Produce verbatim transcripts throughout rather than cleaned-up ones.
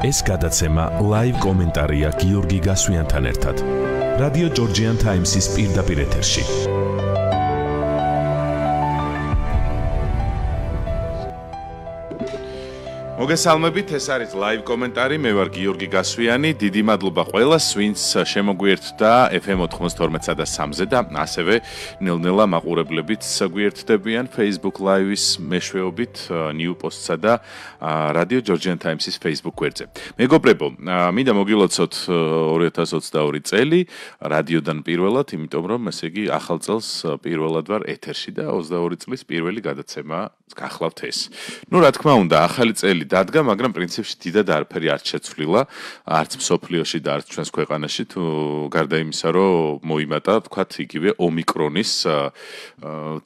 ეს გადაცემა ლაივ კომენტარია გიორგი გასვიანთან ერთად. რადიო ჯორჯიან ტაიმსის პირდაპირ ეთერში. მოგესალმებით, ეს არის ლაივ კომენტარი, მე ვარ გიორგი გასვიანი, დიდი მადლობა ყველას, ვინც შემოგვიერთდა ეფ ემ ოთხმოცდაორმეტსა და სამზე და ასევე ნელ-ნელა მაყურებლებიც გვიერთდებიან Facebook Live-ის მეშვეობით, New Post-სა და რადიო ჯორჯიან ტაიმსის Facebook გვერდზე. მეგობრებო, მინდა მოგილოცოთ ორი ათას ოცდაორი წელი რადიოდან პირველად, იმიტომ რომ ესე იგი ახალ წელს პირველად ვარ ეთერში და ოცდაორი წლის პირველი გადაცემა გახლავთ ეს. ნუ რა თქმა უნდა, ახალი წელი დადგა, მაგრამ პრინციპში დიდად არაფერი არ შეცვლილა, არც მსოფლიოში და არც ჩვენს ქვეყანაში, თუ გარდა იმისა, რომ მოიმატა, თქვათ, იგივე ომიკრონის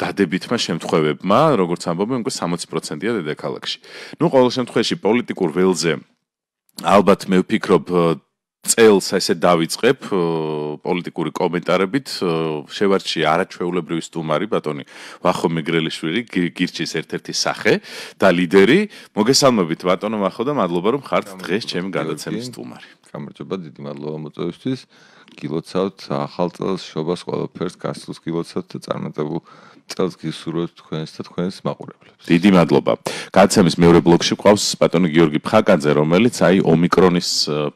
დადებითმა შემთხვევებმა, როგორც ამბობენ, უკვე სამოცი პროცენტია დედაქალაქში. ნუ ყოველ შემთხვევაში პოლიტიკურ ველზე ალბათ მე ვფიქრობ წელს ესე დავიწყებ პოლიტიკური კომენტარებით, შევარჩიე არაჩვეულებრივი სტუმარი ბატონი ვახო მეგრელიშვილი, გირჩის ერთ-ერთი სახე და ლიდერი. მოგესალმებით ბატონო ვახო და მადლობა რომ ხართ დღეს ჩემი გადაცემის სტუმარი. გამარჯობა, დიდი მადლობა მოწვევისთვის. გილოცავთ ახალ წელს, შობას ყველაფერს, გასულს გილოცავთ და წარმატებულ წელს გისურვებთ თქვენს და თქვენს მაყურებლებს. დიდი მადლობა. გადაცემის მეორე ბლოკში ყავს ბატონი გიორგი ფხაკაძე, რომელიც აი ომიკრონის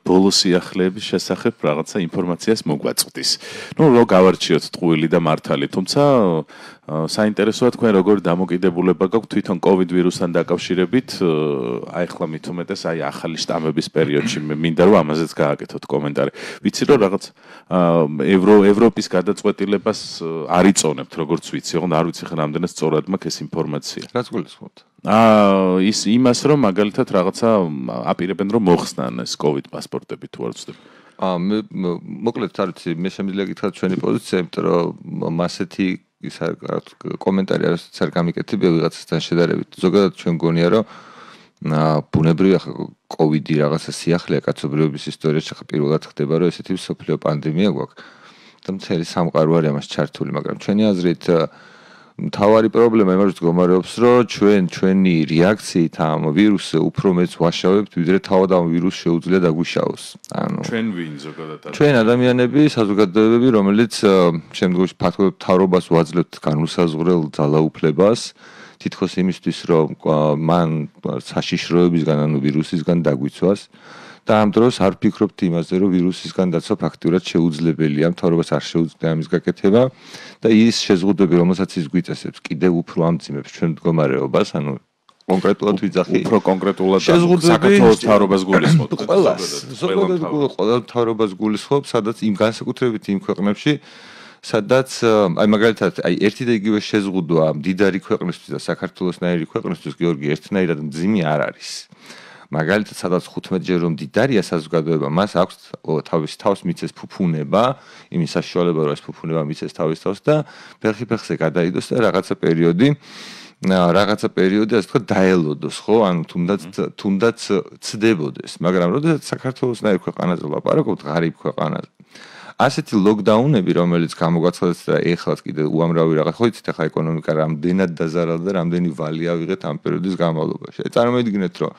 ბოლო სიახლეების შესახებ რაღაცა ინფორმაციას მოგვაწვდის. ნუ რო გავარჩიოთ ტყუილი და მართალი, თუმცა საინტერესოა თქვენ როგორ დამოკიდებულება გაქვთ თვითონ კოვიდ ვირუსთან დაკავშირებით, აი ახლა მით უმეტეს აი ახალი შტამების პერიოდში მინდა რომ ამაზეც გააკეთოთ კომენტარი. ვიცი რომ რაღაც ევრო ევროპის გადაწყვეტილებას არ იწონებთ, როგორც ვიცი, ოღონდ არ ვიცი ხან ამდენად სწორად მაქვს ეს ინფორმაცია. რაც გულისხმობთ? აა ის იმას რომ მაგალითად რაღაცა აპირებენ რომ მოხსნან ეს კოვიდ პასპორტები თუ არ ვცდები. აა მე მოკლედ არ ვიცი, მე შემიძლია გითხრათ ჩვენი პოზიცია, იმიტომ რომ ასეთი ის კომენტარი არც არ გამიკეთებია ვიღაცასთან შედარებით. ზოგადად ჩვენ გონია რომ ბუნებრივია კოვიდი რაღაცა სიახლეა კაცობრიობის ისტორიაში, ხა პირველად ხდება რომ ესეთი მსოფლიო პანდემია გვაქვს. და მთელი სამყარო არის ამას ჩართული, მაგრამ ჩვენი აზრით მთავარი პრობლემა იმას მდგომარეობს, რომ ჩვენ ჩვენი რეაქციით ამ ვირუსზე უფრო მეც ვაშავებთ, ვიდრე თავად ამ ვირუსს შეუძლია დაგვიშაოს. ანუ ჩვენ ვინ ზოგადად? ჩვენ ადამიანები, საზოგადოებები, რომელიც შემდგომში ფაქტობრივად მთავრობას ვაძლევთ განუსაზღვრელ ძალაუფლებას, თითქოს იმისთვის, რომ მან საშიშროებისგან, ანუ ვირუსისგან დაგვიცვას. და ამ დროს არ ფიქრობთ იმაზე, რომ ვირუსისგან დაცვა ფაქტურად შეუძლებელია, მთავრობას არ შეუძლია ამის გაკეთება და ის შეზღუდვები, რომელსაც ის გვიწესებს, კიდევ უფრო ამძიმებს ჩვენ მდგომარეობას, ანუ კონკრეტულად ვიძახი. უფრო კონკრეტულად საქართველოს მთავრობას გულისხმობთ. ყველას, ზოგადად ყველა მთავრობას გულისხმობ, სადაც იმ განსაკუთრებით იმ ქვეყნებში, სადაც აი მაგალითად, აი ერთი და იგივე შეზღუდვა მდიდარი ქვეყნისთვის და საქართველოსნაირი ქვეყნისთვის გიორგი ერთნაირად მძიმე არ არის. მაგალითად, სადაც ხუთმეტჯერ რომ მდიდარია საზოგადოება, მას აქვს თავის თავს მიცეს ფუფუნება, იმის საშუალება რომ ეს ფუფუნება მიცეს თავის თავს და ფეხი-ფეხზე გადაიდოს და რაღაცა პერიოდი, რაღაცა პერიოდი ასე თქვა დაელოდოს, ხო? ანუ თუნდაც თუნდაც ცდებოდეს, მაგრამ როდესაც საქართველოსნაირ ქვეყანაზე ვლაპარაკობთ, ღარიბ ქვეყანაზე. ასეთი ლოკდაუნები, რომელიც გამოგვაცხადეთ და ეხლაც კიდე უამრავი რაღაც, ხო იცით, ახლა ეკონომიკა რამდენად დაზარალდა და რამდენი ვალი ავიღეთ ამ პერიოდის განმავლობაში. წარმოიდგინეთ, რომ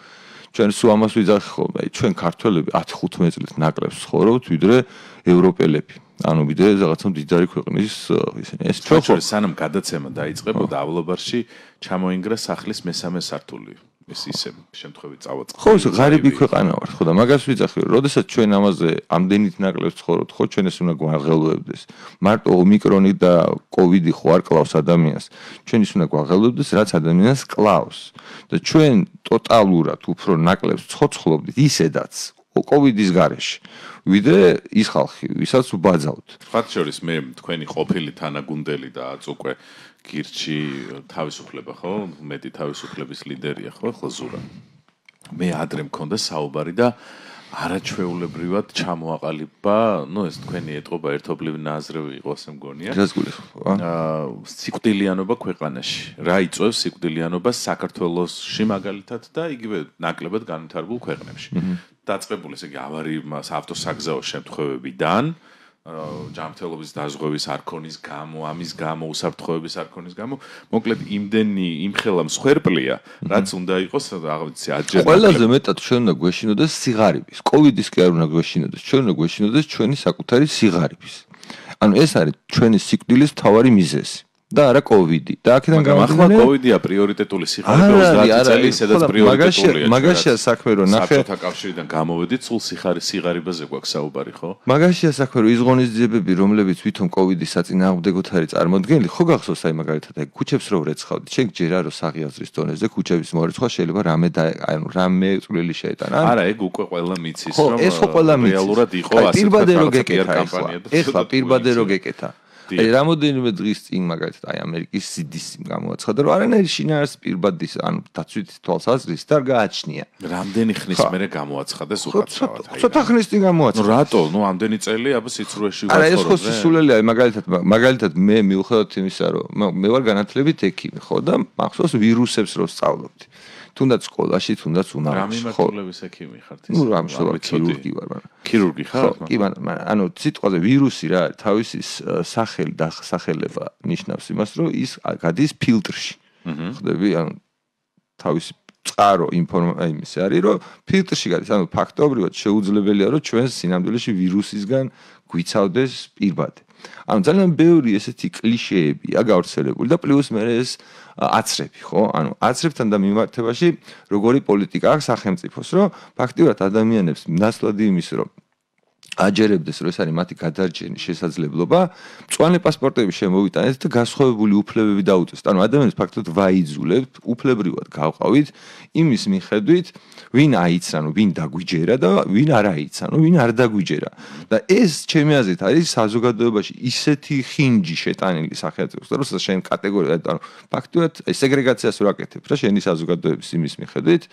ჩვენ სულ ამას ვიძახი ხოლმე, ჩვენ ქართველები ათი ხუთმეტი წლით ნაკლებს ცხოვრობთ, ვიდრე ევროპელები. ანუ ვიდრე რაღაცა მდიდარი ქვეყნის ისინი. ეს ჩვენ შორის სანამ გადაცემა დაიწყებოდა ავლაბარში ჩამოინგრა სახლის მესამე სართული. ეს ისე შემთხვევით წავაწყდა. ხო, ღარიბი ქვეყანა ვართ, ხო და მაგას ვიძახი, რომ როდესაც ჩვენ ამაზე ამდენით ნაკლებს ცხოვრობთ, ხო ჩვენ ეს უნდა გვაღელვებდეს. მარტო ომიკრონი და კოვიდი ხო არ კლავს ადამიანს. ჩვენ ის უნდა გვაღელვებდეს, რაც ადამიანს კლავს. და ჩვენ ტოტალურად უფრო ნაკლებს ცოცხლობდით ისედაც კოვიდის გარეშე. ვიდრე ის ხალხი, ვისაც ვბაძავთ. მათ შორის მე თქვენი ყოფილი თანაგუნდელი და აწუკვე გირჩი თავისუფლება, ხო? მეტი თავისუფლების ლიდერია, ხო? ახლა ზურა. მე ადრე მქონდა საუბარი და არაჩვეულებრივად ჩამოაყალიბა, ну ეს თქვენი ეტყობა ერთობლივი ნაზრევი იყო, ასე მგონია. რას გულისხმობ? აა სიკვდილიანობა ქვეყანაში. რა იწვევს სიკვდილიანობას საქართველოსში მაგალითად და იგივე ნაკლებად განვითარებულ ქვეყნებში. დაწყებული ესე იგი ავარიის ავტოსაგზაო შემთხვევებიდან ჯანმრთელობის დაზღვევის არქონის გამო, ამის გამო, უსაფრთხოების არქონის გამო, მოკლედ იმდენი იმხელა მსხვერპლია, რაც უნდა იყოს, რაღაცა აჯერა. ყველაზე მეტად ჩვენ უნდა გვეშინოდეს სიღარიბის. კოვიდის კი არ უნდა გვეშინოდეს, ჩვენ უნდა გვეშინოდეს ჩვენი საკუთარი სიღარიბის. ანუ ეს არის ჩვენი სიკვდილის მთავარი მიზეზი. და არა კოვიდი. და აქედან გამომდინარე, კოვიდია პრიორიტეტული სიღარიბე ოცდაათი წელი, სადაც პრიორიტეტულია. მაგაშია საქმე, რომ ნახე საბჭოთა კავშირიდან გამოვედით, სულ სიღარიბეზე გვაქვს საუბარი, ხო? მაგაშია საქმე, რომ ის ღონისძიებები, რომლებიც ვითომ კოვიდის საწინააღმდეგოდ არის წარმოდგენილი, ხო გახსოვს აი მაგალითად აი ქუჩებს რო ვრეცხავდით, შენ გჯერა რომ საღიაზრის დონეზე ქუჩების მორეცხვა შეიძლება რამე და ანუ რამე წვლილი შეეტანა. არა, ეგ უკვე ყველა მიცის, რომ რეალურად იყო ასეთი კამპანია. ეხლა პირბადე რო გეკეთა. აი რამოდენიმე დღის წინ მაგალითად აი ამერიკის სი დი სი-მ გამოაცხადა რომ არანაირი შინაარს პირბადის ანუ დაცვით თვალსაზრისით არ გააჩნია. რამდენი ხნის მერე გამოაცხადეს უკაცრავად? ცოტა ხნის წინ გამოაცხადა. ნუ რატო? ნუ ამდენი წელი აბა სიცრუეში ვაცხოვრობ. არა ეს ხო სისულელია მაგალითად მაგალითად მე მიუხედავად იმისა რომ მე ვარ განათლებით ექიმი ხო და მახსოვს ვირუსებს რო სწავლობდი. თუნდაც სკოლაში, თუნდაც უნარში. რა მიმართულების ექიმი ხართ ის? ნუ რამ შევარ ქირურგი ვარ, მაგრამ. ქირურგი ხარ? კი, მაგრამ ანუ სიტყვაზე ვირუსი რა არის, თავისი სახელი და სახელება ნიშნავს იმას, რომ ის გადის ფილტრში. ხდები, ანუ თავისი წყარო ინფორმაცია იმისი არის, რომ ფილტრში გადის, ანუ ფაქტობრივად შეუძლებელია, რომ ჩვენ სინამდვილეში ვირუსისგან გვიცავდეს პირბადე. ანუ ძალიან ბევრი ესეთი კლიშეებია გავრცელებული და პლუს მე ეს აცრები, ხო? ანუ აცრებთან და მიმართებაში როგორი პოლიტიკა აქვს სახელმწიფოს, რომ ფაქტიურად ადამიანებს ნაცვლად იმის, რომ აჯერებდეს, რომ ეს არის მათი გადარჩენის შესაძლებლობა, მწვანე პასპორტები შემოვიტანეთ და გასხოვებული უფლებები დაუწესთ. ანუ ადამიანებს ფაქტობრივად ვაიძულებთ, უფლებრივად გავყავით იმის მიხედვით, ვინ აიცან, ვინ დაგვიჯერა და ვინ არ აიცან, ვინ არ დაგვიჯერა. და ეს ჩემი აზრით არის საზოგადოებაში ისეთი ხინჯი შეტანილი სახელმწიფოს, რომ შენ კატეგორია, ანუ ფაქტობრივად სეგრეგაციას რო აკეთებ რა შენი საზოგადოების იმის მიხედვით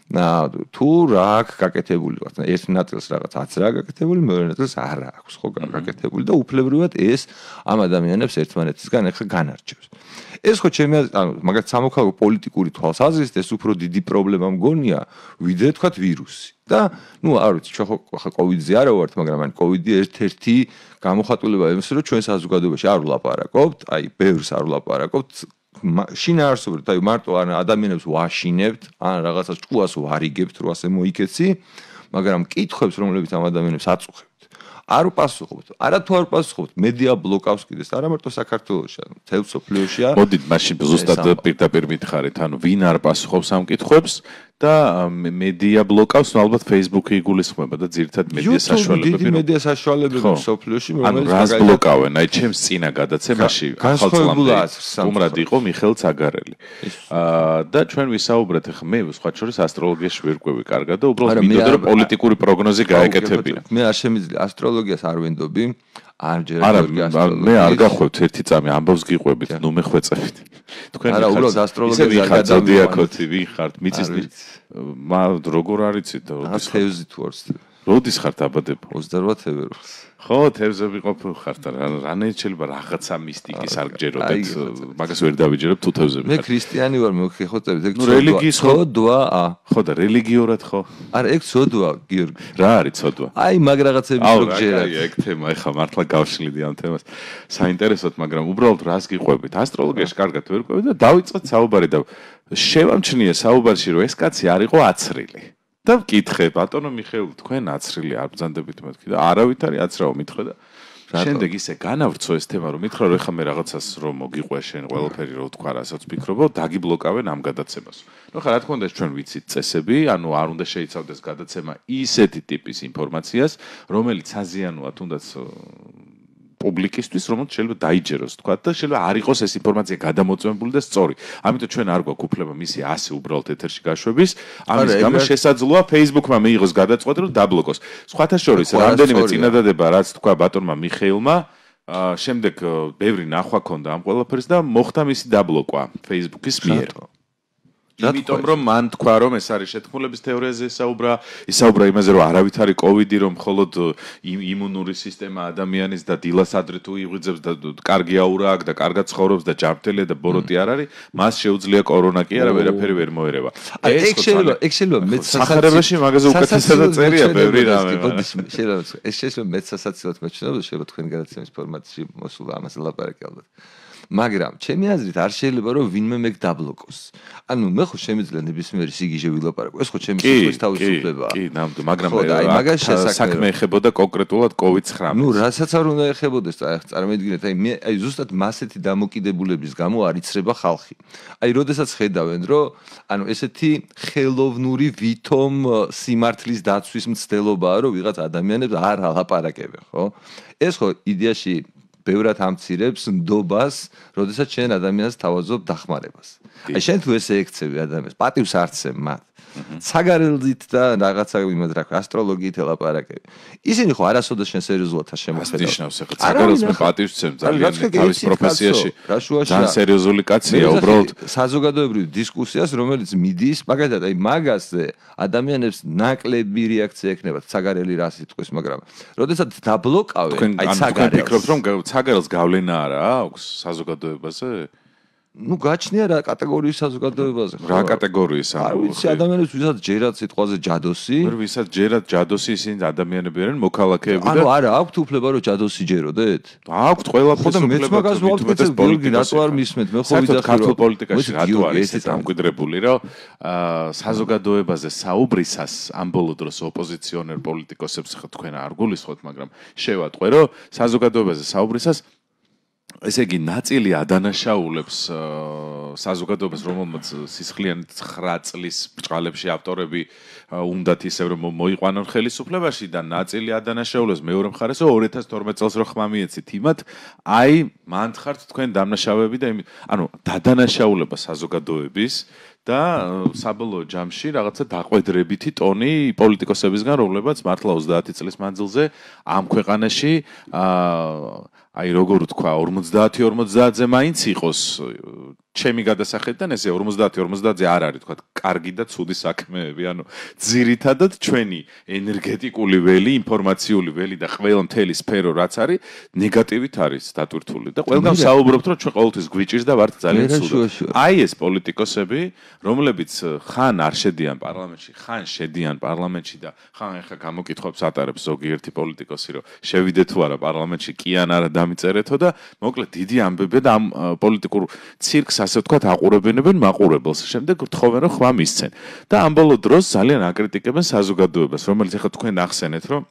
და თუ რა აქვს გაკეთებული ვარ. ერთ ნაწილს რაღაც აც რა გაკეთებული, მეორე ნაწილს არ აქვს ხო გაკეთებული და უფლებრივად ეს ამ ადამიანებს ერთმანეთისგან ახლა განარჩევს. ეს ხო ჩემი ანუ მაგათ სამოქალაქო პოლიტიკური თვალსაზრისით ეს უფრო დიდი პრობლემა მგონია, ვიდრე თქვათ ვირუსი. და ნუ არ ვიცი, ჩვენ ხო კოვიდზე არა ვართ, მაგრამ ან კოვიდი ერთ-ერთი გამოხატულება იმის, რომ ჩვენ საზოგადოებაში არ ვლაპარაკობთ, აი ბევრს არ ვლაპარაკობთ შინაარსობრივ, აი მარტო ან ადამიანებს ვაშინებთ, ან რაღაცას ჭკუას ვარიგებთ, რო ასე მოიქეცი, მაგრამ კითხვებს, რომლებიც ამ ადამიანებს აწუხებთ, არ უპასუხობთ. არა თუ არ უპასუხობთ, მედია ბლოკავს კიდეს, არა მარტო საქართველოში, მთელ სოფლიოშია. მოდით მაშინ ზუსტად პირდაპირ მითხარით, ანუ ვინ არ პასუხობს ამ კითხვებს და მედია ბლოკავს, ნუ ალბათ Facebook-ი იგულისხმება და ძირითად მედია საშუალებები. დიდი მედია საშუალებები სოფლიოში, რომელიც რას ბლოკავენ? აი ჩემს წინა გადაცემაში ახალწლამდე უმრად იყო მიხეილ ცაგარელი. და ჩვენ ვისაუბრეთ ახლა მე სხვა შორის ასტროლოგიაში ვერკვევი კარგად და უბრალოდ მინდოდა რომ პოლიტიკური პროგნოზი გაეკეთებინა. მე არ შემიძლია ასტროლოგიას არ ვენდობი. არა, მე არ გახვევთ ერთი წამი ამბავს გიყვებით, ნუ მე ხვეწებით. თქვენ არა, უბრალოდ ასტროლოგია გადავდიაკოთი, ვინ ხართ? მიწის მა როგორ არიცით და როდის ხევზით ვარ? როდის ხართ აბადება? ოცდაოთხ თებერვალს. ხო, თევზები ყოფილ ხართ, რანაირ შეიძლება რაღაცა მისტიკის არ გჯეროდეთ, მაგას ვერ დავიჯერებ თუ თევზები ხართ. მე ქრისტიანი ვარ, მე ხეხოწებით, ეგ ცოდვა. ა. ხო და რელიგიურად ხო? არა, ეგ ცოდვა, გიორგი. რა არის ცოდვა? აი, მაგ რაღაცები რო გჯერათ. აი, ეგ თემა, ეხლა მართლა გავშლიდი ამ თემას. საინტერესოდ, მაგრამ უბრალოდ რას გიყვებით? ასტროლოგიაში კარგად ვერ ყვებით და დავიწყეთ საუბარი და შევამჩნიე საუბარში, რომ ეს კაცი არ იყო აცრილი. და მკითხე, ბატონო მიხეილ, თქვენ აცრილი არ ბრძანდებით მეთქი და არავით არის აცრავ მითხრა და შემდეგ ისე განავრცო ეს თემა, რომ მითხრა, რომ ეხლა მე რაღაცას რომ მოგიყვე შენ ყველაფერი რო თქვა, რასაც ვფიქრობ, დაგიბლოკავენ ამ გადაცემას. ნუ ხა რა თქმა უნდა, ჩვენ ვიცით წესები, ანუ არ უნდა შეიცავდეს გადაცემა ისეთი ტიპის ინფორმაციას, რომელიც აზიანოა თუნდაც პუბლიკისთვის, რომელიც შეიძლება დაიჯეროს, თქვა და შეიძლება არ იყოს ეს ინფორმაცია გადამოწმებული და სწორი. ამიტომ ჩვენ არ გვაქვს უფლება მისი ასე უბრალოდ ეთერში გაშვების. ამის გამო შესაძლოა Facebook-მა მიიღოს გადაწყვეტა რომ დაბლოკოს. სხვათა შორის, რამდენიმე წინადადება რაც თქვა ბატონმა მიხეილმა, შემდეგ ბევრი ნახვა ქონდა ამ ყველაფერს და მოხდა მისი დაბლოკვა Facebook-ის მიერ. იმიტომ რომ მან თქვა რომ ეს არის შეთქმულების თეორიაზე ესაუბრა, ისაუბრა იმაზე რომ არავითარი კოვიდი რომ მხოლოდ იმუნური სისტემა ადამიანის და დილას ადრე თუ იღვიძებს და კარგი აურა აქვს და კარგად ცხოვრობს და ჯანმრთელია და ბოროტი არ არის, მას შეუძლია კორონა კი არა ვერაფერი ვერ მოერევა. ეს შეიძლება, ეს შეიძლება მეც სახარებაში მაგაზე უკეთესად წერია ბევრი რამე. შეიძლება ეს შეიძლება მეც სასაცილოდ მეჩვენება შეიძლება თქვენ გადაცემის ფორმატში მოსულა ამაზე ლაპარაკი ალბათ. მაგრამ ჩემი აზრით არ შეიძლება რომ ვინმე მეგ დაბლოკოს. ანუ მე ხო შემიძლია ნებისმიერი სიგიჟე ვილაპარაკო. ეს ხო ჩემი სიტყვის თავისუფლებაა. კი, ნამდვილად, მაგრამ საქმე ეხებოდა კონკრეტულად კოვიდ ცხრამეტს. ნუ რასაც არ უნდა ეხებოდეს, წარმოიდგინეთ, აი მე აი ზუსტად მასეთი დამოკიდებულების გამო არ იცრება ხალხი. აი როდესაც ხედავენ, რომ ანუ ესეთი ხელოვნური ვითომ სიმართლის დაცვის მცდელობაა, რომ ვიღაც ადამიანებს არ ალაპარაკებენ, ხო? ეს ხო იდეაში ბევრად ამცირებს ნდობას, როდესაც შენ ადამიანს თავაზობ დახმარებას. აი შენ თუ ესე ექცევი ადამიანს, პატივს არცემ მათ. საგარევლით და რაღაცა იმად რა ქვია, ასტროლოგიით ელაპარაკები. ისინი ხო არასოდეს შენ სერიოზულად არ შემოხედავ. ნიშნავს ახლა საგარევლს მე პატივს ვცემ ძალიან თავის პროფესიაში. ძალიან სერიოზული კაცია უბრალოდ საზოგადოებრივ დისკუსიას, რომელიც მიდის, მაგალითად აი მაგაზე ადამიანებს ნაკლები რეაქცია ექნებათ საგარელი რა სიტყვის, მაგრამ როდესაც დაბლოკავენ, აი საგარელს. ფიქრობთ რომ საგარელს გავლენა არა აქვს საზოგადოებაზე? ну გაჩნია რა კატეგორიის საზოგადოებაზე ხო რა კატეგორიის არ ვიცი ადამიანებს ვისაც ჯერად სიტყვაზე ჯადოსი ვერ ვისაც ჯერად ჯადოსი ისინი ადამიანები არიან მოქალაქეები და ანუ არა აქვთ უფლება რომ ჯადოსი ჯეროდეთ აქვთ ყველაფერს უფლება მეც მაგას ვავტკიცებ გიორგი რატო არ მისმენთ მე ხო ვიდახი ქართულ პოლიტიკაში რატო არის ეს დამკვიდრებული რომ საზოგადოებაზე საუბრისას ამ ბოლო დროს ოპოზიციონერ პოლიტიკოსებს ხო თქვენ არ გულისხმობთ მაგრამ შევატყვე რომ საზოგადოებაზე საუბრისას ესე იგი ნაწილი ადანაშაულებს საზოგადოებას რომელმაც სისხლიანი ცხრა წლის ბჭყალებში ავტორები უნდათ ისევ რომ მოიყვანონ ხელისუფლებაში და ნაწილი ადანაშაულებს მეორე მხარეს ორ ათას თორმეტ წელს რო ხმა მიეცით იმათ აი მანდ ხართ თქვენ დამნაშავეები და ანუ დადანაშაულება საზოგადოების და საბოლოო ჯამში რაღაცა დაყვედრებითი ტონი პოლიტიკოსებისგან რომლებაც მართლა ოცდაათი წლის მანძილზე ამ ქვეყანაში აი როგორ ვთქვა ორმოცდაათი ორმოცდაათზე მაინც იყოს ჩემი გადასახედიდან ესე ორმოცდაათი ორმოცდაათზე არ არის თქვა კარგი და ცუდი საქმეები ანუ ძირითადად ჩვენი ენერგეტიკული ველი ინფორმაციული ველი და ყველა მთელი სფერო რაც არის ნეგატივით არის დატვირთული და ყველგან საუბრობთ რომ ჩვენ ყოველთვის გვიჭირს და ვართ ძალიან ცუდად აი ეს პოლიტიკოსები რომლებიც ხან არ შედიან პარლამენტში ხან შედიან პარლამენტში და ხან ახლა გამოკითხვებს ატარებს ზოგიერთი პოლიტიკოსი რომ შევიდე თუ არა პარლამენტში კი ან არა დამიწერეთო და მოკლედ დიდი ამბები და ამ პოლიტიკურ ცირკს ასე ვთქვათ აყურებინებენ მაყურებელს შემდეგ თხოვენ რომ ხმა მისცენ და ამ ბოლო დროს ძალიან აკრიტიკებენ საზოგადოებას რომელიც ახლა თქვენ ახსენეთ რომ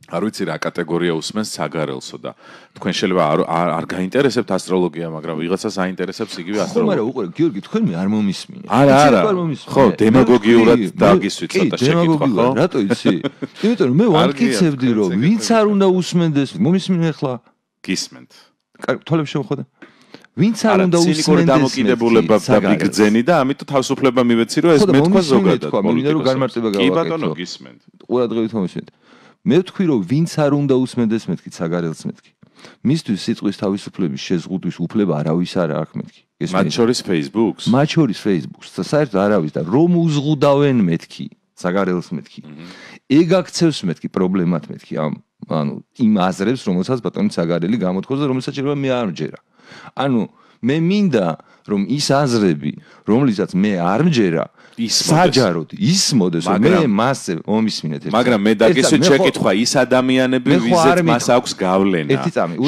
არ ვიცი რა კატეგორია უსმენს საგარელსო და თქვენ შეიძლება არ არ გაინტერესებთ ასტროლოგია მაგრამ ვიღაცას აინტერესებს იგივე ასტროლოგია ხო მაგრამ უყურე გიორგი თქვენ მე არ მომისმინე არა არა ხო დემაგოგიურად დაგისვით ცოტა შეკითხვა ხო რატო იცი იმიტომ რომ მე ვამტკიცებდი რომ ვინც არ უნდა უსმენდეს მომისმინე ახლა გისმენთ თვალებს შემოხვდა ვინც არ უნდა უსმენდეს დამოკიდებულება და ბიგძენი და ამიტომ თავისუფლება მივეცი რომ ეს მეთქვა ზოგადად მინდა რომ განმარტება გავაკეთო კი ბატონო გისმენთ ყურადღებით მომისმენთ მე ვთქვი რომ ვინც არ უნდა უსმენდეს მეთქი საგარელს მეთქი მისთვის სიტყვის თავისუფლების შეზღუდვის უფლება არავის არ აქვს მეთქი მათ შორის Facebook-ს მათ შორის Facebook-ს საერთოდ არავის და რომ უზღუდავენ მეთქი საგარელს მეთქი ეგ აქცევს მეთქი პრობლემად მეთქი ამ ანუ იმ აზრებს რომელსაც ბატონი საგარელი გამოთქვას და რომელსაც შეიძლება მე არ მჯერა ანუ მე მინდა რომ ის აზრები რომლიცაც მე არ მჯერა საჯაროდ ისმოდეს რომ მე მასზე მომისმინეთ ერთად მაგრამ მე დაგისვით შეკითხვა ის ადამიანები ვიზეთ მას აქვს გავლენა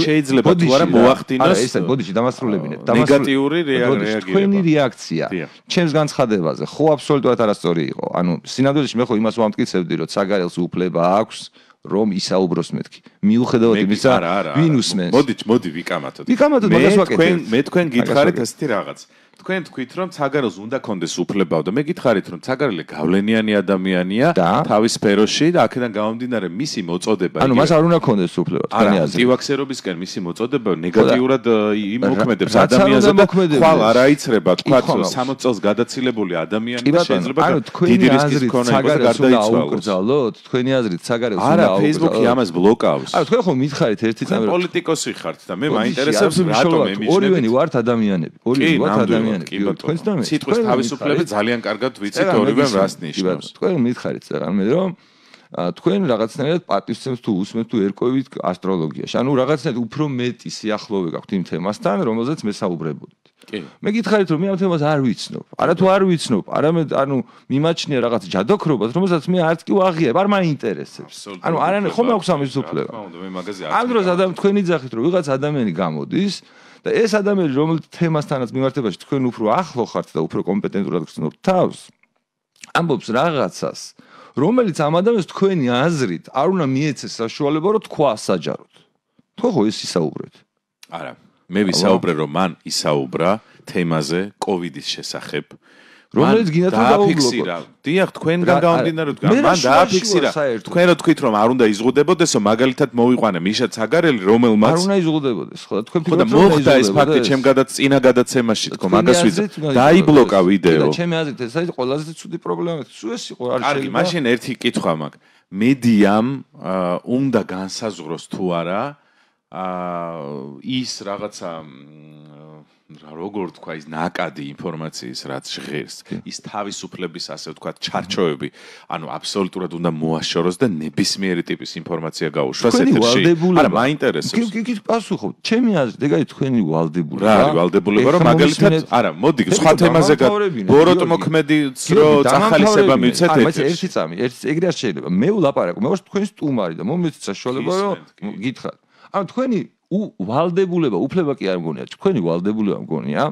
შეიძლება თუ არა მოახდინოს არა ეს ბოდიში დამასრულებინეთ ნეგატიური რეაგირება თქვენი რეაქცია ჩემს განცხადებაზე ხო აბსოლუტურად არასწორი იყო ანუ სინამდვილეში მე ხო იმას ვამტკიცებდი რომ საგარელს უფლება აქვს რომ ისაუბროს მეთქი მიუხედავად იმისა ვინ უსმენს მოდით მოდი ვიკამათოთ ვიკამათოთ მაგას ვაკეთებ მე თქვენ გითხარით ესეთი რაღაც თქვენ თქვით რომ საგარელს უნდა კონდეს უფლებაო და მე გითხარით რომ საგარელი გავლენიანი ადამიანია თავის სფეროში და აქედან გამომდინარე მისი მოწოდება ანუ მას არ უნდა კონდეს უფლება თქვენი აზრით ანტივაქსერობისკენ მისი მოწოდება ნეგატიურად იმოქმედებს ადამიანზე და ხვალ არ აიცრება თქვა სამოცი წელს გადაცილებული ადამიანი და შეიძლება დიდი რისკის მქონე იყოს და გარდაიცვალოს თქვენი აზრით საგარელს უნდა არა Facebook-ი ამას ბლოკავს არა თქვენ ხო მითხარით ერთი წამი პოლიტიკოსი ხართ და მე მაინტერესებს რატომ ემიჯნებით ორივენი ვართ ადამიანები ორივენი ვართ ადამიანები ადამიანები, თქვენც და მე. სიტყვის თავისუფლება ძალიან კარგად ვიცით ორივემ რას ნიშნავს. თქვენ მითხარით რამე, რომ თქვენ რაღაცნაირად პატივცემთ თუ უსმენთ თუ ერკვევით ასტროლოგიაში. ანუ რაღაცნაირად უფრო მეტი სიახლოვე გაქვთ იმ თემასთან, რომელზეც მე საუბრებოდით. მე გითხარით რომ მე ამ თემას არ ვიცნობ. არა თუ არ ვიცნობ, არამედ ანუ მიმაჩნია რაღაც ჯადოქრობას, რომელსაც მე არც კი ვაღიებ, არ მაინტერესებს. ანუ არანაირ ხომ აქვს ამის უფლება. ამ დროს ადამიანი თქვენი ძახით რომ ვიღაც ადამიანი გამოდის და ეს ადამიანი რომელიც თემასთანაც მიმართებაში თქვენ უფრო ახლო ხართ და უფრო კომპეტენტურად გრძნობთ თავს, ამბობს რაღაცას, რომელიც ამ ადამიანს თქვენი აზრით არ უნდა მიეცეს საშუალება რომ თქვა საჯაროდ. თქვა ხო ეს ისაუბრეთ? არა. მე ვისაუბრე რომ მან ისაუბრა თემაზე კოვიდის შესახებ. რომელიც გინდათ რომ დააფიქსირა. დიახ, თქვენგან გამომდინარე თქვა, მან დააფიქსირა. თქვენ რო თქვით რომ არ უნდა იზღუდებოდესო, მაგალითად მოვიყვანე მიშა ცაგარელი, რომელმაც არ უნდა იზღუდებოდეს, ხო და თქვენ თქვენ მოხდა ეს ფაქტი ჩემ გადაც წინა გადაცემაში თქო, მაგას ვიძა. დაიბლოკა ვიდეო. და ჩემი აზრით ეს არის ყველაზე ცუდი პრობლემა. სულ ეს იყო არ შეიძლება. კარგი, მაშინ ერთი კითხვა მაქვს. მედიამ უნდა განსაზღვროს თუ არა აა ის რაღაცა როგორ თქვა ის ნაკადი ინფორმაციის რაც ჟღერს ის თავისუფლების ასე ვთქვა ჩარჩოები ანუ აბსოლუტურად უნდა მოაშოროს და ნებისმიერი ტიპის ინფორმაცია გაუშვას ეთერში არა მაინტერესებს კი კი პასუხობ ჩემი აზრით ეგ არის თქვენი ვალდებულება რა არის ვალდებულება რომ მაგალითად არა მოდი სხვა თემაზე ბოროტ მოქმედიც რო წახალისება მივცეთ ერთი წამი ერთი ეგრე არ შეიძლება მე ვლაპარაკო მე ვარ თქვენი სტუმარი და მომეცით საშუალება რომ გითხრათ ანუ თქვენი ვალდებულება, უფლება კი არ მგონია, თქვენი ვალდებულება მგონია,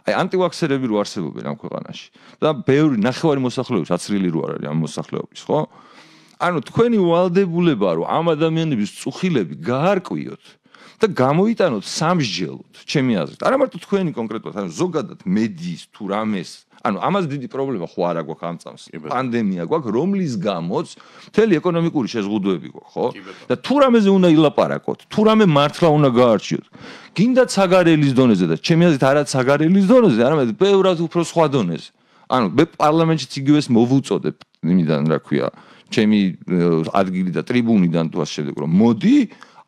აი ანტივაქსერები რო არსებობენ ამ ქვეყანაში და ბევრი ნახევარი მოსახლეობის აცრილი რო არ არის ამ მოსახლეობის, ხო? ანუ თქვენი ვალდებულება რომ ამ ადამიანების წუხილები გაარკვიოთ და გამოიტანოთ სამსჯელოდ, ჩემი აზრით. არა მარტო თქვენი კონკრეტულად, ანუ ზოგადად მედიის თუ რამეს ანუ ამას დიდი პრობლემა ხო არა გვაქვს ამ წამს. პანდემია გვაქვს, რომლის გამოც მთელი ეკონომიკური შეზღუდვები გვაქვს, ხო? და თუ რამეზე უნდა ილაპარაკოთ, თუ რამე მართლა უნდა გაარჩიოთ. გინდა ცაგარელის დონეზე და ჩემი აზრით არა ცაგარელის დონეზე, არამედ ბევრად უფრო სხვა დონეზე. ანუ მე პარლამენტშიც იგივეს მოვუწოდებ იმიდან რა ქვია, ჩემი ადგილი და ტრიბუნიდან თუ ასე შემდეგ რომ მოდი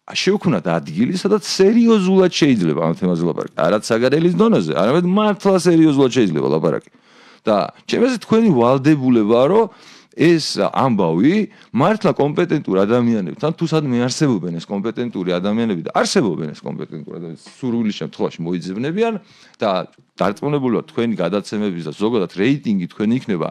შევქვნათ ადგილი, სადაც სერიოზულად შეიძლება ამ თემაზე ლაპარაკი. არა ცაგარელის დონეზე, არამედ მართლა სერიოზულად შეიძლება ლაპარაკი. და ჩემი აზრით თქვენი ვალდებულება რომ ეს ამბავი მართლა კომპეტენტურ ადამიანებთან თუ სადმე არსებობენ ეს კომპეტენტური ადამიანები და არსებობენ ეს კომპეტენტური ადამიანები სურვილი შემთხვევაში მოიძებნებიან და დარწმუნებულია თქვენი გადაცემების და ზოგადად რეიტინგი თქვენი იქნება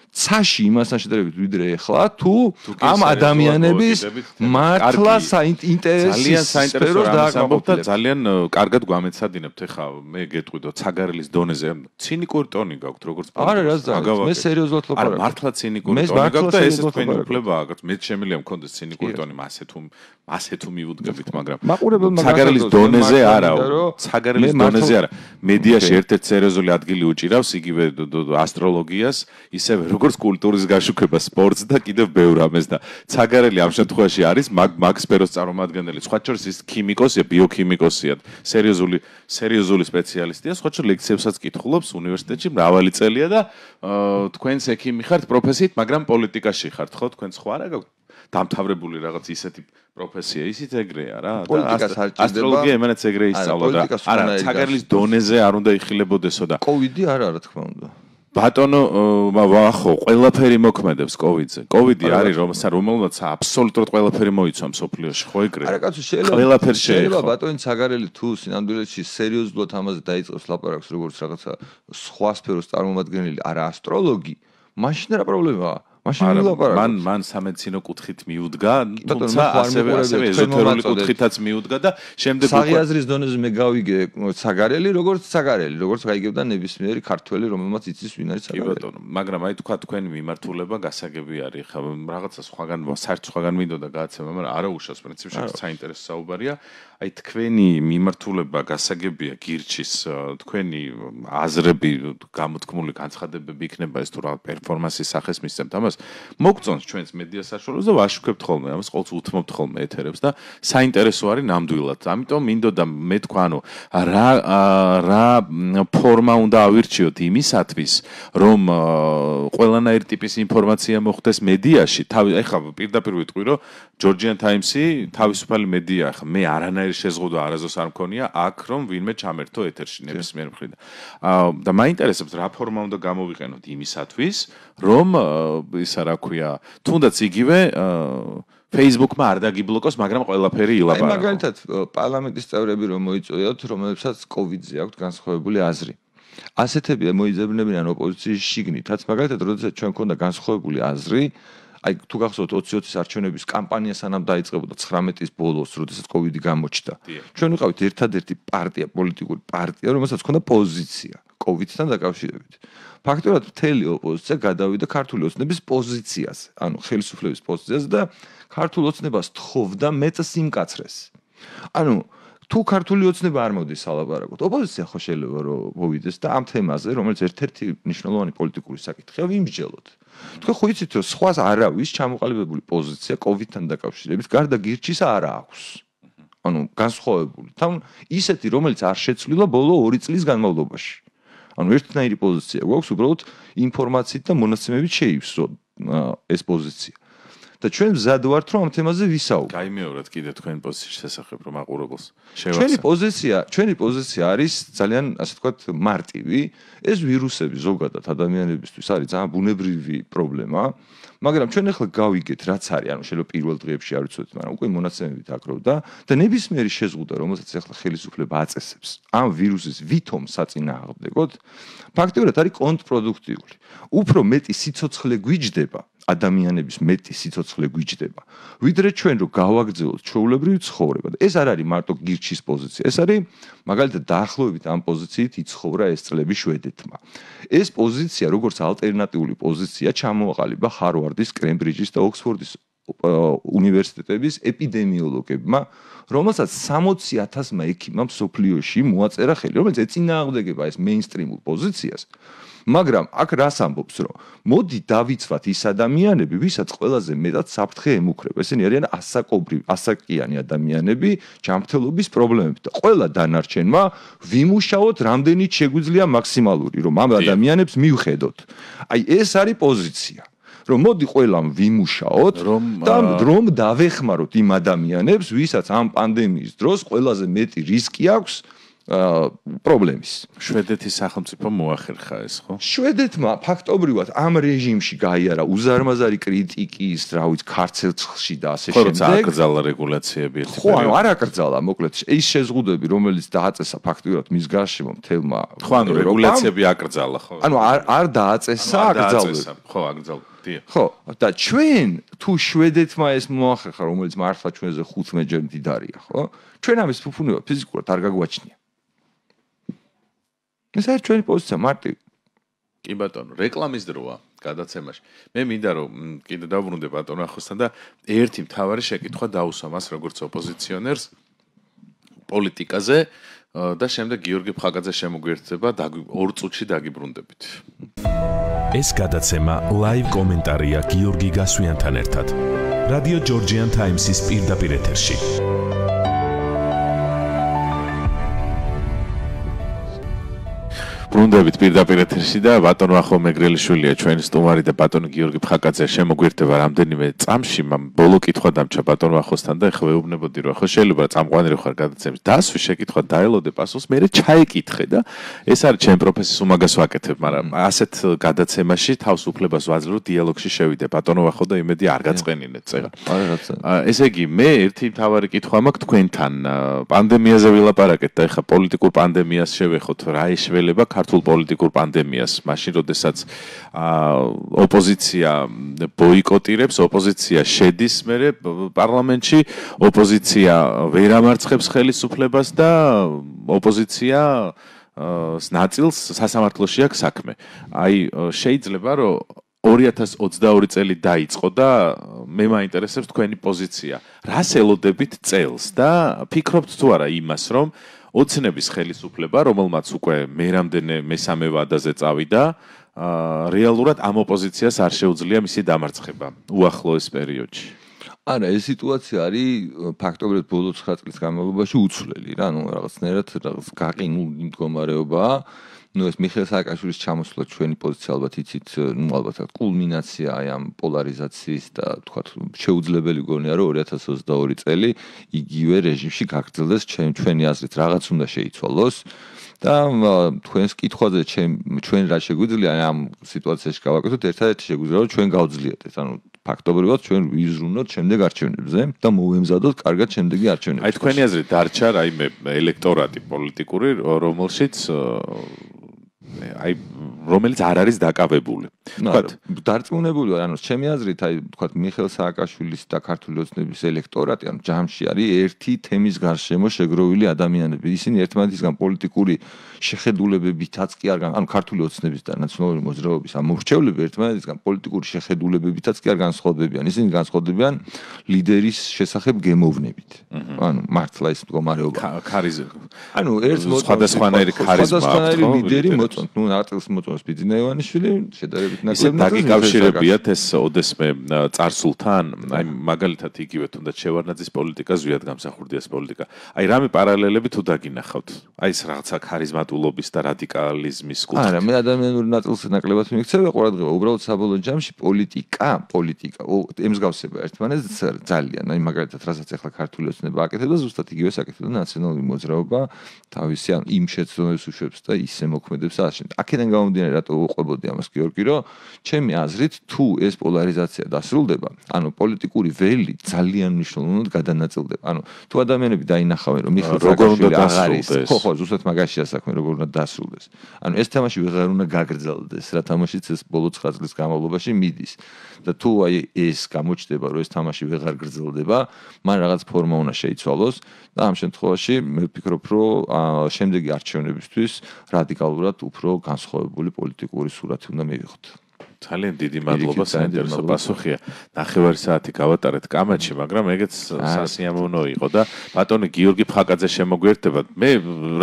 ცაში იმასთან შედარებით ვიდრე ახლა თუ ამ ადამიანების მართლა საინტერესო სფეროს დააკავებთ და ძალიან კარგად გვამეცადინებთ ახლა მე გეტყვიდო ცაგარელის დონეზე ცინიკური ტონი გაქვთ როგორც არა რა ზაგავ მე სერიოზულად ლაპარაკობ არა მართლა ცინიკური ტონი გაქვთ და ეს თქვენი უფლებაა გაქვთ მე შემიძლია მქონდეს ცინიკური ტონი მასე თუ მასე თუ მიუდგებით მაგრამ ცაგარელის დონეზე არაო ცაგარელის დონეზე არა მედიაში ერთ-ერთ სერიოზული ადგილი უჭირავს იგივე ასტროლოგიას ისევე როგორც კულტურის გაშუქება სპორტს და კიდევ ბევრ ამას და ცაგარელი ამ შემთხვევაში არის მაგ მაგ სფეროს წარმომადგენელი სხვა შორის ის ქიმიკოსია ბიოქიმიკოსია სერიოზული სერიოზული სპეციალისტია სხვა შორის ლექციებსაც კითხულობს უნივერსიტეტში მრავალი წელია და თქვენს ექიმი ხართ პროფესიით მაგრამ პოლიტიკაში ხართ ხო თქვენ სხვა რა გაქვთ დამთავრებული რაღაც ისეთი პროფესია ისიც ეგრეა რა ასტროლოგია იმენაც ეგრე ისწავლა და არა ცაგარელის დონეზე არ უნდა იხილებოდესო და კოვიდი არა რა თქმა უნდა ბატონო ვახო ყველაფერი მოქმედებს კოვიდზე კოვიდი არის რომელმაც აბსოლუტურად ყველაფერი მოიცვა მსოფლიოში ხო ეგრე არა კაცო შეიძლება შეიძლება ბატონი ცაგარელი თუ სინამდვილეში სერიოზულად ამაზე დაიწყებს ლაპარაკს როგორც რაღაცა სხვა სფეროს წარმომადგენელი არა ასტროლოგი მაშინ რა პრობლემაა მაშინ ვილაპარაკოთ მან მან სამედიცინო კუთხით მიუდგა თუმცა ასევე ასევე ეზოთერული კუთხითაც მიუდგა და შემდეგ საღიაზრის დონეზე მე გავიგე ცაგარელი როგორც ცაგარელი როგორც გაიგებდა ნებისმიერი ქართველი რომელმაც იცის ვინ არის ცაგარელი კი ბატონო მაგრამ აი თქვა თქვენი მიმართულება გასაგები არის ხა რაღაცა სხვაგან საერთოდ სხვაგან მინდოდა გააცემა მაგრამ არა უშავს პრინციპში საინტერესო საუბარია აი თქვენი მიმართულება გასაგებია გირჩის თქვენი აზრები გამოთქმული განცხადებები იქნება ეს თუ რა პერფორმანსის სახეს მისცემთ ამას მოგწონს ჩვენს მედია საშუალებას და ვაშუქებთ ხოლმე ამას, ყოველთვის უთმობთ ხოლმე ეთერებს და საინტერესო არის ნამდვილად. ამიტომ მინდოდა მე თქვა, ანუ რა რა ფორმა უნდა ავირჩიოთ იმისათვის, რომ ყველანაირი ტიპის ინფორმაცია მოხდეს მედიაში. თავი ეხლა პირდაპირ ვიტყვი, რომ Georgian Times-ი თავისუფალი მედია, ხა მე არანაირი შეზღუდვა არასდროს არ მქონია აქ, რომ ვინმე ჩამერთო ეთერში ნებისმიერ მხრიდან. და მაინტერესებს რა ფორმა უნდა გამოვიყენოთ იმისათვის, რომ ისა რა ქვია, თუნდაც იგივე Facebook-მა არ დაგიბლოკოს, მაგრამ ყველაფერი ილაპარაკო. აი მაგალითად პარლამენტის წევრები რომ მოიწვიოთ, რომელებსაც COVID-ზე აქვს განსხვავებული აზრი. ასეთები მოიძებნებიან ოპოზიციის შიგნითაც, მაგალითად, როდესაც ჩვენ ქონდა განსხვავებული აზრი, აი თუ გახსოვთ ოცი ოცის არჩევნების კამპანია სანამ დაიწყებოდა ცხრამეტის ბოლოს, როდესაც COVID-ი გამოჩნდა. ჩვენ ვიყავით ერთადერთი პარტია, პოლიტიკური პარტია, რომელსაც ჰქონდა პოზიცია COVID-თან დაკავშირებით. ფაქტობრივად მთელი ოპოზიცია გადავიდა ქართული ოცნების პოზიციაზე, ანუ ხელისუფლების პოზიციაზე და ქართულ ოცნებას თხოვდა მეწ სიმკაცრეს. ანუ თუ ქართული ოცნება არ მოდის სალაპარაკოდ, ოპოზიცია ხო შეიძლება რომ მოვიდეს და ამ თემაზე, რომელიც ერთ-ერთი მნიშვნელოვანი პოლიტიკური საკითხია, ვიმსჯელოთ. თქვენ ხო იცით რომ სხვას არავის ჩამოყალიბებული პოზიცია COVID-თან დაკავშირებით გარდა გირჩის არ აქვს. ანუ განსხვავებული. თან ისეთი, რომელიც არ შეცვლილა ბოლო ორი წლის განმავლობაში. ანუ ერთნაირი პოზიცია გვაქვს, უბრალოდ ინფორმაციით და მონაცემებით შეივსო ეს პოზიცია. და ჩვენ მზად ვართ რომ ამ თემაზე ვისაუბროთ. გაიმეორეთ კიდე თქვენ პოზიციის შესახებ რომ აყურებელს შევახსენოთ. ჩვენი პოზიცია, ჩვენი პოზიცია არის ძალიან, ასე ვთქვათ, მარტივი. ეს ვირუსები ზოგადად ადამიანებისთვის არის ძალიან ბუნებრივი პრობლემა, მაგრამ ჩვენ ახლა გავიგეთ რაც არის, ანუ შეიძლება პირველ დღეებში არ ვიცოდეთ, მაგრამ უკვე მონაცემებით აკროვდა და ნებისმიერი შეზღუდვა, რომელსაც ახლა ხელისუფლება აწესებს, ამ ვირუსის ვითომ საწინააღმდეგოდ, ფაქტობრივად არის კონტრპროდუქტიული. უფრო მეტი სიცოცხლე გვიჯდება ადამიანების მეტი სიცოცხლე გვიჯდება. ვიდრე ჩვენ რო გავაგრძელოთ ჩვეულებრივი ცხოვრება და ეს არ არის მარტო გირჩის პოზიცია, ეს არის მაგალითად დაახლოებით ამ პოზიციით იცხოვრა ეს წლები შვედეთმა. ეს პოზიცია როგორც ალტერნატიული პოზიცია ჩამოაყალიბა ჰარვარდის, კემბრიჯის და ოქსფორდის უნივერსიტეტების ეპიდემიოლოგებმა, რომელსაც სამოცი ათასმა ექიმმა მსოფლიოში მოაწერა ხელი, რომელიც ეწინააღმდეგება ეს მეინსტრიმულ პოზიციას. მაგრამ აქ რას ამბობს, რომ მოდი დავიცვათ ის ადამიანები, ვისაც ყველაზე მეტად საფრთხე ემუქრება. ესენი არიან ასაკობრივი, ასაკიანი ადამიანები, ჯანმრთელობის პრობლემებით და ყველა დანარჩენმა ვიმუშაოთ რამდენიც შეგვიძლია მაქსიმალური, რომ ამ ადამიანებს მივხედოთ. აი ეს არის პოზიცია. რომ მოდი ყველამ ვიმუშაოთ და რომ დავეხმაროთ იმ ადამიანებს, ვისაც ამ პანდემიის დროს ყველაზე მეტი რისკი აქვს პრობლემის. შვედეთის სახელმწიფო მოახერხა ეს, ხო? შვედეთმა ფაქტობრივად ამ რეჟიმში გაიარა უზარმაზარი კრიტიკის, რა ვიცი, ქარცელში და ასე შემდეგ. ხო, აკრძალა რეგულაციები ერთი პერიოდი. ხო, ანუ არ აკრძალა, მოკლედ, ის შეზღუდვები, რომელიც დააწესა ფაქტობრივად მის გარშემო მთელმა. ხო, ანუ რეგულაციები აკრძალა, ხო? ანუ არ არ დააწესა, აკრძალვები. ხო, აკრძალა. ხო, და ჩვენ თუ შვედეთმა ეს მოახერხა, რომელიც მართლა ჩვენზე ხუთმეტჯერ მდიდარია, ხო? ჩვენ ამის ფუფუნება ფიზიკურად არ გაგვაჩნია. ეს არის ჩვენი პოზიცია მარტივი. კი ბატონო, რეკლამის დროა გადაცემაში. მე მინდა რომ კიდე დავბრუნდე ბატონო ახოსთან და ერთი მთავარი შეკითხვა დაუსვა მას როგორც ოპოზიციონერს პოლიტიკაზე და შემდეგ გიორგი ფხაკაძე შემოგვიერთდება ორ წუთში დაგიბრუნდებით. ეს გადაცემა ლაივ კომენტარია გიორგი გასვიანთან ერთად. რადიო Georgian Times-ის პირდაპირ ეთერში. ბრუნდებით პირდაპირ ეთერში და ბატონო ახო მეგრელიშვილია ჩვენი სტუმარი და ბატონო გიორგი ფხაკაძე შემოგვიერთდება რამდენიმე წამში. ბოლო კითხვა დამჩა ბატონო ახოსთან და ეხლა ვეუბნებოდი რომ ახლა შეიძლება წამყვანილი ხარ გადაცემის დასვი შეკითხვა დაელოდე პასუხს, მე ჩაიკითხე და ეს არის ჩემ პროფესიის უმაგას ვაკეთებ, მაგრამ ასეთ გადაცემაში თავს უფლებას ვაძლევ რომ დიალოგში შევიდე ბატონო ახო და იმედი არ გაწყენინეთ წეგა. ესე იგი მე ერთი მთავარი კითხვა მაქვს თქვენთან. პანდემიაზე ვილაპარაკეთ და ეხლა პოლიტიკურ პანდემიას შევეხოთ, რა ეშველება ქართულ პოლიტიკურ პანდემიას, მაშინ როდესაც ოპოზიცია ბოიკოტირებს, ოპოზიცია შედის მერე პარლამენტში, ოპოზიცია ვერ ამარცხებს ხელისუფლებას და ოპოზიცია ნაწილს სასამართლოში აქვს საქმე. აი შეიძლება რომ ორი ათას ოცდაორი წელი დაიწყო და მე მაინტერესებს თქვენი პოზიცია. რას ელოდებით წელს და ფიქრობთ თუ არა იმას, რომ ოცნების ხელისუფლება, რომელმაც უკვე მერამდენე მესამე ვადაზე წავიდა, რეალურად ამ ოპოზიციას არ შეუძლია მისი დამარცხება უახლოეს პერიოდში. არა, ეს სიტუაცია არის ფაქტობრივად ბოლო ცხრა წლის განმავლობაში უცვლელი რა, ну რაღაცნაირად რაღაც გაყინული მდგომარეობაა. ну ეს მიხეილ სააკაშვილის ჩამოსვლა ჩვენი პოზიცია ალბათ იცით, ну ალბათ კულმინაცია აი ამ პოლარიზაციის და თქვათ შეუძლებელი გონია რომ ორი ათას ოცდაორი წელი იგივე რეჟიმში გაგრძელდეს ჩვენი აზრით რაღაც უნდა შეიცვალოს და თქვენს კითხვაზე ჩვენ რა შეგვიძლია ამ სიტუაციაში გავაკეთოთ ერთადერთი შეგვიძლია რომ ჩვენ გავძლიათ ანუ ფაქტობრივად ჩვენ ვიზრუნოთ შემდეგ არჩევნებზე და მოვემზადოთ კარგად შემდეგი არჩევნები. აი თქვენი აზრით დარჩა რაიმე ელექტორატი პოლიტიკური რომელშიც აი რომელიც არ არის დაკავებული. თქვათ დარწმუნებული ვარ, ანუ ჩემი აზრით აი თქვათ მიხეილ სააკაშვილის და ქართული ოცნების ელექტორატი ანუ ჯამში არის ერთი თემის გარშემო შეგროვილი ადამიანები. ისინი ერთმანეთისგან პოლიტიკური შეხედულებებითაც კი არ ანუ ქართული ოცნების და ნაციონალური მოძრაობის ამ მორჩევლები ერთმანეთისგან პოლიტიკური შეხედულებებითაც კი არ განსხვავდებიან. ისინი განსხვავდებიან ლიდერის შესახებ გემოვნებით. ანუ მართლა ის მდგომარეობა. ქარიზმა. ანუ ერთ სხვადასხვანაირი ქარიზმა აქვს. ლიდერი მოწონთ, ну არტილს მოწონს ბიძინა ივანიშვილი, შედარებით ნაკლები. დაკავშირებიათ ეს ოდესმე წარსულთან, აი მაგალითად იგივე თუნდაც შევარდნაძის პოლიტიკა, ზვიად გამსახურდიას პოლიტიკა. აი რამე პარალელები თუ დაგინახავთ? აი ეს რაღაცა ქარიზმატულობის და რადიკალიზმის კუთხით. არა, მე ადამიანურ ნაწილს ნაკლებად მიქცევი ყურადღება, უბრალოდ საბოლოო ჯამში პოლიტიკა, პოლიტიკა, ემსგავსება ერთმანეთს ძალიან. აი მაგალითად, რასაც ახლა ქართული ოცნება აკეთებს, ზუსტად იგივეს აკეთებს ნაციონალური მოძრაობა, თავისი ან იმ შეცდომებს უშვებს და ისე მოქმედებს აშენ. აქედან გამომდინარე რატო უყვებოდი ამას გიორგი, რომ ჩემი აზრით თუ ეს პოლარიზაცია დასრულდება, ანუ პოლიტიკური ველი ძალიან მნიშვნელოვნად გადანაწილდება. ანუ თუ ადამიანები დაინახავენ, რომ მიხეილ სააკაშვილი აღარ არის, ხო, ხო, ზუსტად მაგაშია საქმე, როგორ უნდა დასრულდეს. ანუ ეს თამაში ვეღარ უნდა გაგრძელდეს, რა თამაშიც ეს ბოლო ცხრა წლის განმავლობაში მიდის. და თუ აი ეს გამოჩნდება, რომ ეს თამაში ვეღარ გრძელდება, მან რაღაც ფორმა უნდა შეიცვალოს და ამ შემთხვევაში მე ვფიქრობ, რომ შემდეგი არჩევნებისთვის რადიკალურად უფრო განსხვავებული პოლიტიკური სურათი უნდა მივიღოთ. ძალიან დიდი მადლობა, საინტერესო პასუხია. ნახევარი საათი გავატარეთ კამათში, მაგრამ ეგეც სასიამოვნო იყო და ბატონი გიორგი ფხაკაძე შემოგვიერთდება. მე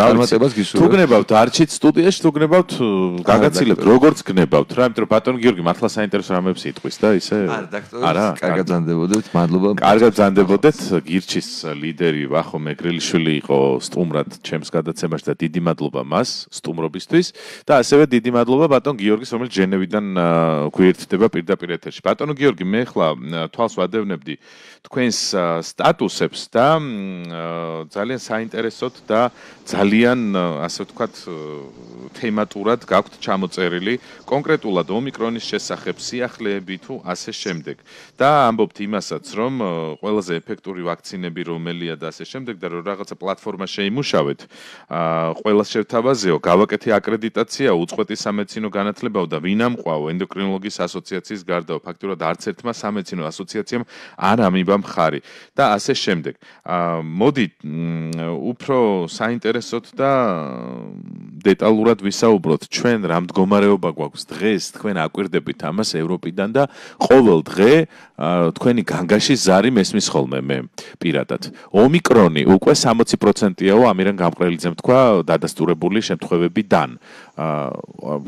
რა ვიცი, თუ გნებავთ არჩით სტუდიაში, თუ გნებავთ გაგაცილებთ, როგორც გნებავთ რა, იმიტომ რომ ბატონი გიორგი მართლა საინტერესო რამებს იტყვის და ისე არა, კარგად ბრძანდებოდეთ, მადლობა. კარგად ბრძანდებოდეთ, გირჩის ლიდერი ვახო მეგრელიშვილი იყო სტუმრად ჩემს გადაცემაში და დიდი მადლობა მას სტუმრობისთვის და ასევე დიდი მადლობა ბატონ გიორგის, რომელიც ჟენევიდან გვერდდება პირდაპირ ეთერში. ბატონო გიორგი, მე ახლა თვალს ვადევნებდი თქვენს სტატუსებს და ძალიან საინტერესოდ და ძალიან ასე ვთქვათ თემატურად გაქვთ ჩამოწერილი კონკრეტულად ომიკრონის შესახებ სიახლეები თუ ასე შემდეგ. და ამბობთ იმასაც, რომ ყველაზე ეფექტური ვაქცინები რომელია და ასე შემდეგ და რომ რაღაცა პლატფორმა შეიმუშავეთ, ყველა შევთავაზეო, გავაკეთე აკრედიტაცია, უწყვეტი სამედიცინო განათლებაო და ვინ ამყვაო ენდოკრინოლოგიის ასოციაციის გარდაო, ფაქტურად არც ერთმა სამედიცინო ასოციაციამ არ ამიბა მხარი და ასე შემდეგ. მოდი უფრო საინტერესოდ და დეტალურად ვისაუბროთ, ჩვენ რა მდგომარეობა გვაქვს დღეს, თქვენ აკვირდებით ამას ევროპიდან და ყოველ დღე თქვენი განგაში ზარი მესმის ხოლმე მე პირადად. ომიკრონი უკვე სამოცი პროცენტიაო ამირან გამყრელიძემ თქვა დადასტურებული შემთხვევებიდან.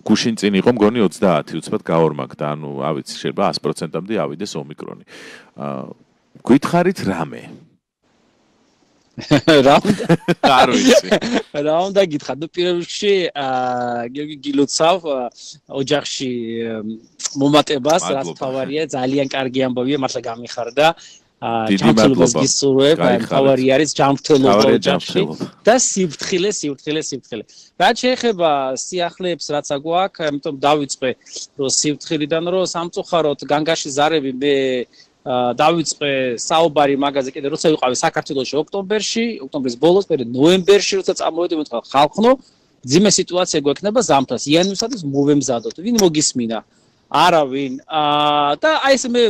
გუშინ წინ იყო მგონი ოცდაათი უცბად გაორმაგდა, ანუ ავიცი შეიძლება ას პროცენტამდე ავიდეს ომიკრონი. გითხარით რამე? რა უნდა? არ ვიცი. რა უნდა გითხრათ? ნუ პირველ რიგში გიორგი გილოცავ ოჯახში მომატებას, რაც თავარია, ძალიან კარგი ამბავია, მართლა გამიხარდა. ჯანმრთელობას გისურვებ, თავარი არის ჯანმრთელობა ოჯახში და სიფრთხილე, სიფრთხილე, სიფრთხილე. რაც შეეხება სიახლეებს, რაც აგვაქვს, ამიტომ დავიწყე რომ სიფრთხილიდან რომ სამწუხაროდ განგაში ზარები მე დავიწყე საუბარი მაგაზე კიდე როცა ვიყავი საქართველოში ოქტომბერში, ოქტომბრის ბოლოს, მე ნოემბერში როცა წამოვედი მეთქვა ხალხნო, ძიმე სიტუაცია გვექნება ზამთარს, იანვარსაც მოვემზადოთ. ვინ მოგისმინა? არავინ. და აი ეს მე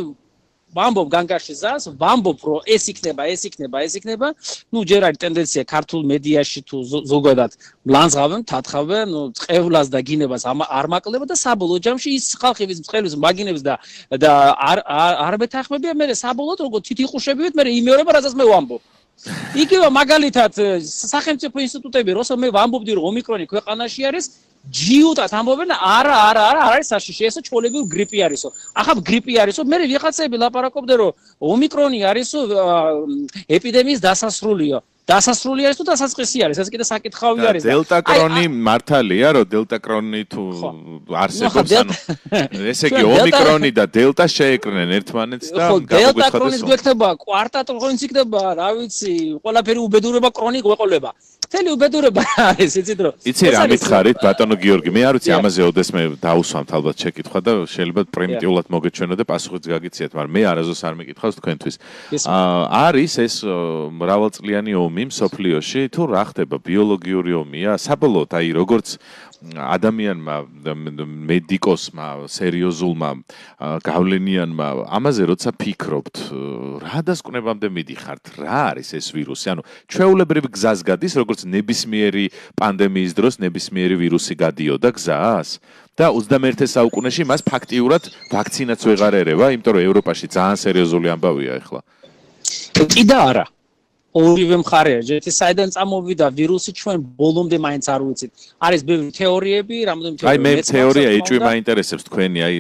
ვამბობ განგაში ზას, ვამბობ რომ ეს იქნება, ეს იქნება, ეს იქნება. ნუ ჯერ არის ტენდენცია ქართულ მედიაში თუ ზოგადად ლანძღავენ, თათხავენ, ნუ წევლას და გინებას არ მაკლდება და საბოლოო ჯამში ის ხალხი ვის მწყერვის მაგინებს და და არ არ მეთანხმებია, მე საბოლოოდ როგორ თითიყუშებივით, მე იმეორება, რასაც მე ვამბობ. იგივე მაგალითად სახელმწიფო ინსტიტუტები, როცა მე ვამბობდი რომ ომიკრონი ქვეყანაში არის, ჯიუტად ამბობენ არა არა არა არ არის საშიში ესო ჩოლებრივ გრიპი არისო ახლა გრიპი არისო მე ვიღაცები ლაპარაკობდნენ რომ ომიკრონი არისო ეპიდემიის დასასრულიო დასასრული არის თუ დასაწყისი არის ეს კიდე საკითხავი არის და დელტა კრონი მართალია რომ დელტა კრონი თუ არსებობს ანუ ესე იგი ომიკრონი და დელტა შეეკრნენ ერთმანეთს და დელტა კრონის გვექნება კვარტატ კრონიც იქნება რა ვიცი ყველაფერი უბედურება კრონი გვეყოლება თელი უბედურება არის იცით რომ იცი რა მითხარით ბატონო გიორგი მე არ ვიცი ამაზე ოდესმე დაუსვამთ ალბათ შეკითხვა და შეიძლება პრიმიტიულად მოგეჩვენო და პასუხიც გაგიციეთ მაგრამ მე არაზოს არ მეკითხავს თქვენთვის არის ეს მრავალწლიანი ომი მსოფლიოში თუ რა ხდება ბიოლოგიური ომია საბოლოოდ აი როგორც ადამიანმა მედიკოსმა სერიოზულმა გავლენიანმა ამაზე როცა ფიქრობთ რა დასკვნებამდე მიდიხართ რა არის ეს ვირუსი ანუ ჩვეულებრივ გზას გადის როგორც ნებისმიერი პანდემიის დროს ნებისმიერი ვირუსი გადიოდა გზას და ოცდამეერთე საუკუნეში მას ფაქტიურად ვაქცინაც ვეღარ ერევა იმიტომ რომ ევროპაში ძალიან სერიოზული ამბავია ახლა კიდე არა ორივე მხარეა ერთი საიდან წამოვიდა ვირუსი ჩვენ ბოლომდე მაინც არ ვიცით არის ბევრი თეორიები რამოდენიმე თეორია აი მე თეორია ეჭვი მაინტერესებს თქვენი აი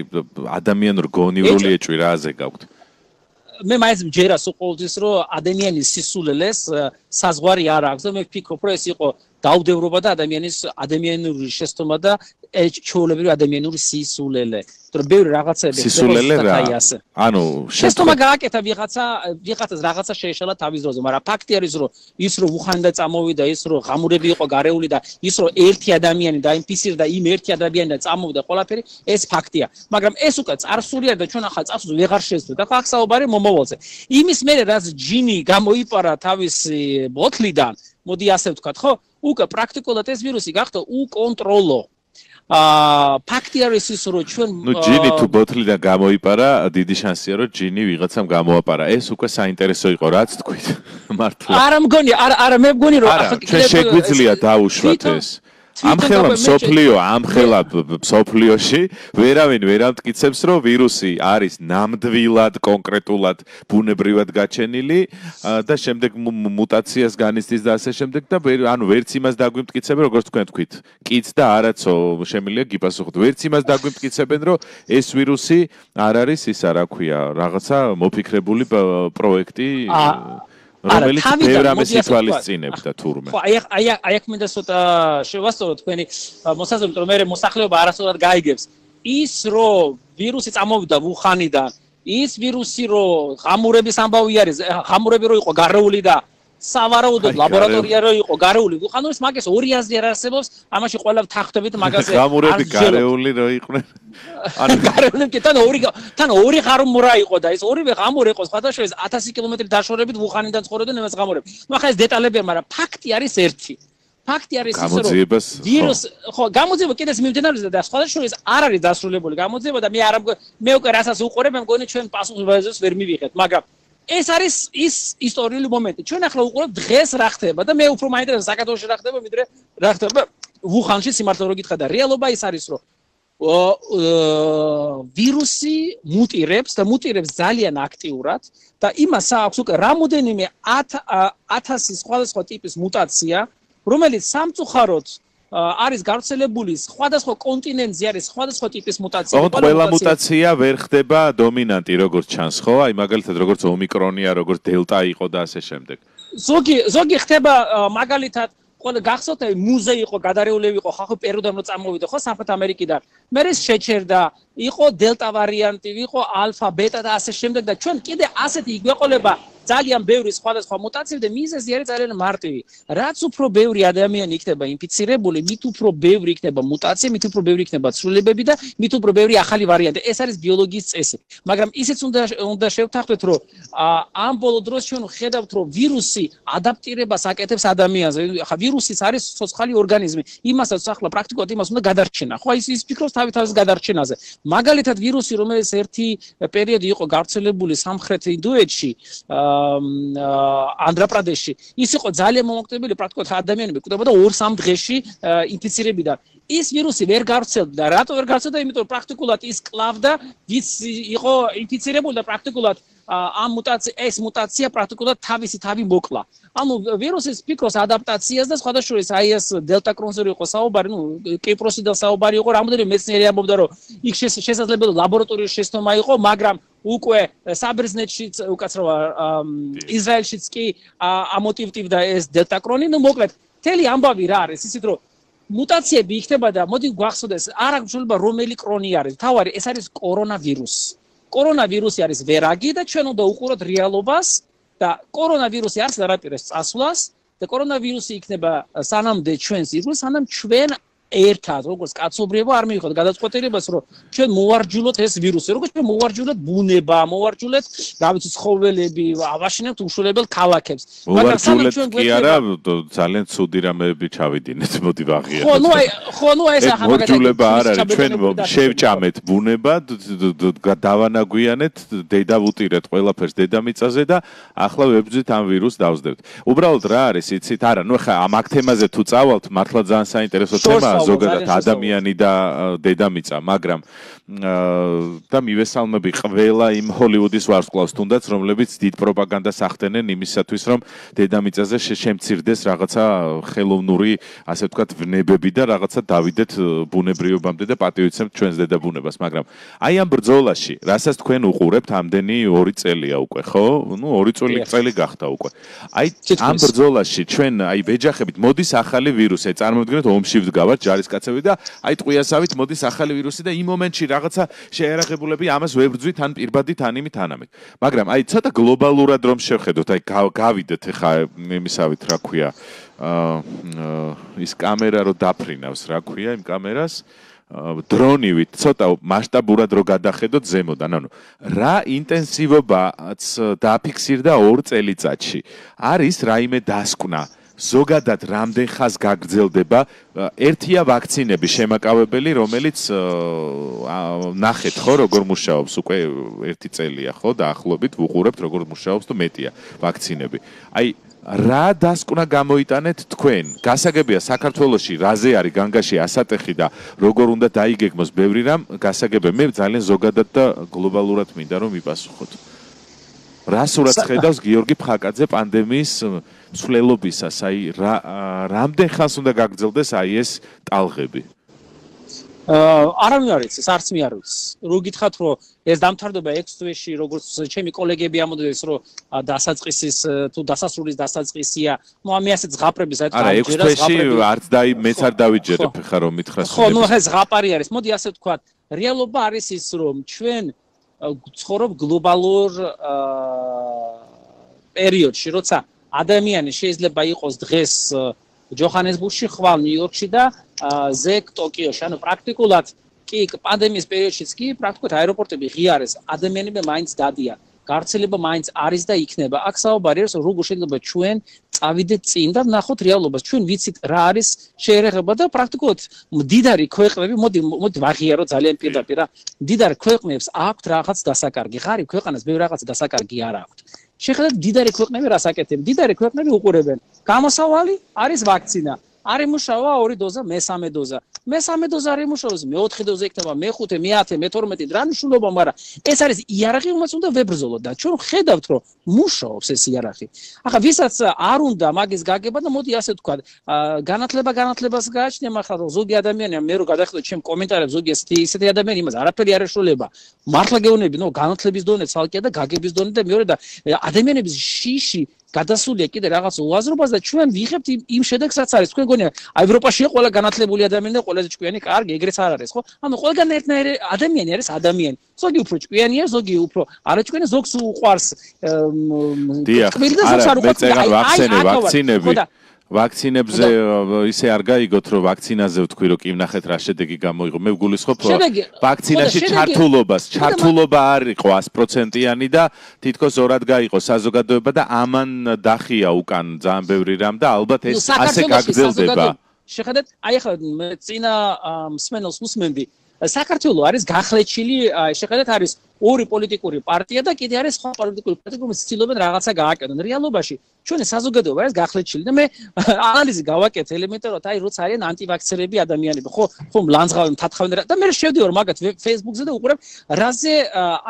ადამიანურ გონივრული ეჭვი რაზე გაქვთ მე მაინც მჯერა სულ ყოველთვის რომ ადამიანის სისულელეს საზღვარი არ აქვს და მე ვფიქრობ რომ ეს იყო დაუდევრობა და ადამიანის ადამიანური შეცდომა და ჩვეულებრივი ადამიანური სისულელე თორე ბევრი რაღაცები სისულელე რა ანუ შეცდომა გააკეთა ვიღაცა ვიღაცას რაღაცა შეეშალა თავის დროზე მაგრამ ფაქტი არის რომ ის რომ უხანდა წამოვიდა ის რომ ღამურები იყო გარეული და ის რომ ერთი ადამიანი დაინფიცირდა იმ ერთი ადამიანი და წამოვიდა ყველაფერი ეს ფაქტია მაგრამ ეს უკვე წარსული არის და ჩვენ ახლა წარსულს ვეღარ შეძლოთ ახლა ახსაუბარი მომავალზე იმის მერე რაც ჯინი გამოიპარა თავისი ბოთლიდან მოდი ასე ვთქვათ ხო უკვე პრაქტიკულად ეს ვირუსი გახდა უკონტროლო აა ფაქტი არის ის რომ ჩვენ ნუ ჯინი თუ ბოთლიდან გამოიპარა დიდი შანსია რომ ჯინი ვიღაცამ გამოაპარა ეს უკვე საინტერესო იყო რაც თქვით მართლა არა მგონი არა არა მე მგონი რომ ახლა ჩვენ შეგვიძლია დაუშვათ ეს ამხელა მსოფლიო ამხელა მსოფლიოში ვერავინ ვერ ამტკიცებს რომ ვირუსი არის ნამდვილად კონკრეტულად ბუნებრივად გაჩენილი და შემდეგ მუტაციას განიცდის და ასე შემდეგ და ანუ ვერც იმას დაგვიმტკიცებენ როგორც თქვენ თქვით კიც და არაცო შემიძლია გიპასუხოთ ვერც იმას დაგვიმტკიცებენ რომ ეს ვირუსი არ არის ისა რა ქვია რაღაცა მოფიქრებული პროექტი რომელიც ბევრ ამას ითვალისწინებდა თურმე. ხო, აი აი აი აქ მინდა ცოტა შევასწორო თქვენი მოსაზრებით, რომ მე მოსახლეობა არასოდეს გაიგებს. ის რომ ვირუსი წამოვიდა ვუხანიდან, ის ვირუსი რომ ღამურების ამბავი არის, ღამურები რო იყო გარეული და სავარაუდოდ ლაბორატორია რო იყო გარეული, ვუხანურის მაგას ორი აზრი არ არსებობს, ამაში ყველა თანხმდებით მაგაზე. ღამურები გარეული რო იყვნენ. ანუ გარეული კი თან ორი თან ორი ღამურა იყო და ეს ორივე ღამური იყო სხვადასხვა ათასი კილომეტრი დაშორებით ვუხანიდან ცხოვრობდნენ იმას ღამურები. ნუ ახლა ეს დეტალები მაგრამ ფაქტი არის ერთი. ფაქტი არის ის რომ ვირუს ხო გამოძიება კიდეც მიმდინარეობს და სხვადასხვა არ არის დასრულებული გამოძიება და მე არ მე უკვე რასაც უყურებ მე მგონი ჩვენ პასუხისმგებლობას ვერ მივიღეთ მაგრამ ეს არის ის ისტორიული მომენტი. ჩვენ ახლა უყურებთ დღეს რა ხდება და მე უფრო მაინტერესებს საქართველოში რა ხდება, ვიდრე რა ხდება ვუხანში სიმართლე რო გითხრა და რეალობა ის არის, რომ ვირუსი მუტირებს და მუტირებს ძალიან აქტიურად და იმას აქვს უკვე რამოდენიმე ათასი სხვადასხვა ტიპის მუტაცია, რომელიც სამწუხაროდ არის გავრცელებული სხვადასხვა კონტინენტზე არის სხვადასხვა ტიპის მუტაცია. ყველა მუტაცია ვერ ხდება დომინანტი, როგორც ჩანს, ხო? აი მაგალითად როგორც ომიკრონია, როგორც დელტა იყო და ასე შემდეგ. ზოგი ზოგი ხდება მაგალითად ყველა გახსოვთ აი მუზე იყო გადარეულები იყო ხახო პერუდან რო წამოვიდა ხო სამხრეთ ამერიკიდან. მე ეს შეჩერდა, იყო დელტა ვარიანტი, იყო ალფა, ბეტა და ასე შემდეგ და ჩვენ კიდე ასეთი იგვეყოლება ძალიან ბევრი სხვადასხვა მუტაციები და მიზეზი არის ძალიან მარტივი. რაც უფრო ბევრი ადამიანი იქნება ინფიცირებული, მით უფრო ბევრი იქნება მუტაცია, მით უფრო ბევრი იქნება ცვლილებები და მით უფრო ბევრი ახალი ვარიანტი. ეს არის ბიოლოგიის წესი. მაგრამ ისიც უნდა უნდა შევთანხმდეთ, რომ ამ ბოლო დროს ჩვენ ხედავთ, რომ ვირუსი ადაპტირებას აკეთებს ადამიანზე. ხა ვირუსის არის ცოცხალი ორგანიზმი. იმასაც ახლა პრაქტიკულად იმას უნდა გადარჩენა. ხო ის ის ფიქრობს თავი თავის გადარჩენაზე. მაგალითად ვირუსი, რომელიც ერთი პერიოდი იყო გავრცელებული სამხრეთ ინდოეთში, ანდრაპრადეში ის იყო ძალიან მომოკლებული პრაქტიკულად ადამიანები კვდებოდა ორ-სამ დღეში ინფიცირებიდან ის ვირუსი ვერ გავრცელდა და რატო ვერ გავრცელდა იმიტომ რომ პრაქტიკულად ის კლავდა ვის იყო ინფიცირებული და პრაქტიკულად ამ მუტაცია ეს მუტაცია პრაქტიკულად თავისი თავი მოკლა. ანუ ვირუსის ფიქროს ადაპტაციას და სხვა შორის აი ეს დელტა კრონზე იყო საუბარი, ნუ კიპროსიდან საუბარი იყო, რამოდენიმე მეცნიერი ამბობდა, რომ იქ შესაძლებელი ლაბორატორიის შეცდომა იყო, მაგრამ უკვე საბერძნეთშიც, უკაცრავა ისრაელშიც კი ამოტივტივდა ეს დელტა კრონი, ნუ მოკლედ, მთელი ამბავი რა არის, ისიც რომ მუტაციები იქნება და მოდი გვახსოვდეს, არ აქვს მნიშვნელობა რომელი კრონი არის, თავარი ეს არის კორონავირუსი. კორონავირუსი არის ვერაგი და ჩვენ უნდა უყუროთ რეალობას და კორონავირუსი არც არაპირებს წასვლას და კორონავირუსი იქნება სანამდე ჩვენს ირგვლივ, სანამ ჩვენ ერთად როგორც კაცობრიობა არ მივიღოთ გადაწყვეტილებას, რომ ჩვენ მოვარჯულოთ ეს ვირუსი, როგორც ჩვენ მოვარჯულოთ ბუნება, მოვარჯულოთ, რა ვიცი, ცხოველები, ავაშენებთ უშულებელ ქალაქებს. მაგრამ სანამ ჩვენ კი არა, ძალიან ცუდი რამეები ჩავიდინეთ, მოდი ვაღიაროთ. ხო, ნუ აი, ხო, ნუ ეს ახლა მაგათი მორჯულება არ არის, ჩვენ შევჭამეთ ბუნება, დავანაგვიანეთ, დედა ვუტირეთ ყველაფერს დედამიწაზე და ახლა ვებრძვით ამ ვირუსს დავსდევთ. უბრალოდ რა არის, იცით? არა, ნუ ხა ამ აქ თემაზე თუ წავალთ, მართლა ძალიან საინტერესო თემაა. ზოგადად ადამიანი და დედამიწა, მაგრამ და მივესალმები ყველა იმ ჰოლივუდის ვარსკვლავს თუნდაც, რომლებიც დიდ პროპაგანდას ახდენენ იმისათვის, რომ დედამიწაზე შემცირდეს რაღაცა ხელოვნური, ასე ვთქვათ, ვნებები და რაღაცა დავიდეთ ბუნებრიობამდე და პატივიცემთ ჩვენს დედაბუნებას, მაგრამ აი ამ ბრძოლაში, რასაც თქვენ უყურებთ, ამდენი ორი წელია უკვე, ხო? ნუ ორი წელი გახდა უკვე. აი ამ ბრძოლაში ჩვენ აი ვეჯახებით, მოდის ახალი ვირუსი, წარმოვიდგინოთ ომში ვდგავართ ჯარისკაცები და აი ტყვიასავით მოდის ახალი ვირუსი და იმ მომენტში რაღაცა შეერაღებულები ამას ვებრძვით ან პირბადით ან იმით ანამით. მაგრამ აი ცოტა გლობალურად რომ შევხედოთ, აი გავიდეთ ახლა იმისავით, რა ქვია, აა ის კამერა რო დაფრინავს, რა ქვია იმ კამერას, დრონივით ცოტა მასშტაბურად რო გადახედოთ ზემოდან, ანუ რა ინტენსივობაც დაფიქსირდა ორ წელიწადში. არის რაიმე დასკვნა ზოგადად რამდენ ხანს გაგრძელდება? ერთია ვაქცინები შემაკავებელი, რომელიც ნახეთ ხო როგორ მუშაობს, უკვე ერთი წელია ხო დაახლოებით ვუყურებთ როგორ მუშაობს და მეტია ვაქცინები. აი რა დასკვნა გამოიტანეთ თქვენ? გასაგებია საქართველოში რაზე არის განგაში ასატეხი და როგორ უნდა დაიგეგმოს ბევრი რამ, გასაგებია მე ძალიან ზოგადად და გლობალურად მინდა რომ ვიპასუხოთ. რა სურათს ხედავს გიორგი ფხაკაძე პანდემიის მსვლელობისას, აი რამდენ ხანს უნდა გაგრძელდეს აი ეს ტალღები? არავინ არ იცის, არც მე არ ვიცი. რო გითხრათ, რომ ეს დამთავრდება ექვს თვეში, როგორც ჩემი კოლეგები ამბობდნენ, რომ დასაწყისის თუ დასასრულის დასაწყისია, ნუ ამე ასე ზღაპრები საერთოდ არა, ექვს თვეში არც დაი მეც არ დავიჯერებ ხა რომ მითხრას. ხო, ნუ ეს ზღაპარი არის. მოდი ასე ვთქვათ, რეალობა არის ის, რომ ჩვენ ცხოვრობ გლობალურ პერიოდში, როცა ადამიანი შეიძლება იყოს დღეს ჯოჰანესბურგში, ხვალ ნიუ-იორკში და ზეკ ტოკიოში. ანუ პრაქტიკულად კი პანდემიის პერიოდშიც კი პრაქტიკულად აეროპორტები ღია არის, ადამიანები მაინც დადიან. გავრცელება მაინც არის და იქნება. აქ საუბარი არის, როგორ შეიძლება ჩვენ წავიდეთ წინ და ვნახოთ რეალობას. ჩვენ ვიცით რა არის შეერაღება და პრაქტიკულად მდიდარი ქვეყნები, მოდი მოდი ვაღიარო ძალიან პირდაპირ რა. მდიდარი ქვეყნებს აქვთ რაღაც დასაკარგი. ღარიბ ქვეყანას ბევრი რაღაც დასაკარგი არ აქვთ. შეხედეთ მდიდარი ქვეყნები რას აკეთებენ? მდიდარი ქვეყნები უყურებენ. გამოსავალი არის ვაქცინა. არ იმუშავა ორი დოზა, მესამე დოზა. მესამე დოზა არ იმუშავებს, მეოთხე დოზა იქნება, მეხუთე, მეათე, მეთორმეტე, რა მნიშვნელობა, მაგრამ ეს არის იარაღი, რომელსაც უნდა ვებრძოლოთ და ჩვენ ხედავთ, რომ მუშაობს ეს იარაღი. ახლა ვისაც არ უნდა მაგის გაგება და მოდი ასე ვთქვა, განათლება განათლებას გააჩნია, მაგრამ რომ ზოგი ადამიანი, მე რო გადახედოთ ჩემ კომენტარებს, ზოგი ესეთი ისეთი ადამიანი იმას არაფერი არ ეშველება. მართლა გეუბნები, ნო განათლების დონე ცალკეა და გაგების დონე და მეორე და ადამიანების შიში გადასულია კიდე რაღაც უაზრობას და ჩვენ ვიღებთ იმ შედეგსაც არის. თქვენ გონია ევროპაშია ყველა განათლებული ადამიანი და ყველაზე ჭკვიანი, კარგი, ეგრეც არ არის, ხო? ანუ ყველგან ერთნაირი ადამიანი არის ადამიანი. ზოგი უფრო ჭკვიანია, ზოგი უფრო არაჭკვიანი, ზოგს უყვარს ტკბილი და ზოგს არ უყვარს. ვაქცინები ვაქცინებზე ისე არ გაიგოთ, რომ ვაქცინაზე ვთქვი, რომ კი ვნახეთ რა შედეგი გამოიღო. მე ვგულისხმობ, რომ ვაქცინაში ჩართულობას, ჩართულობა არ იყო ას პროცენტიანი და თითქოს ორად გაიყო საზოგადოება და ამან დახია უკან ძალიან ბევრი რამ და ალბათ ეს ასე გაგრძელდება. შეხედეთ, აი ახლა წინა მსმენელს უსმენდი, საქართველო არის გახლეჩილი, შეხედეთ არის ორი პოლიტიკური პარტია და კიდე არის სხვა პოლიტიკური პარტია, რომელიც ცდილობენ რაღაცა გააკეთონ. რეალობაში ჩვენი საზოგადოება არის გახლეჩილი და მე ანალიზი გავაკეთე ელემენტარულად, აი როცა არიან ანტივაქსერები ადამიანები, ხო, ხომ ლანძღავენ, თათხავენ და მე შევდივარ მაგათ Facebook-ზე და უყურებ, რაზე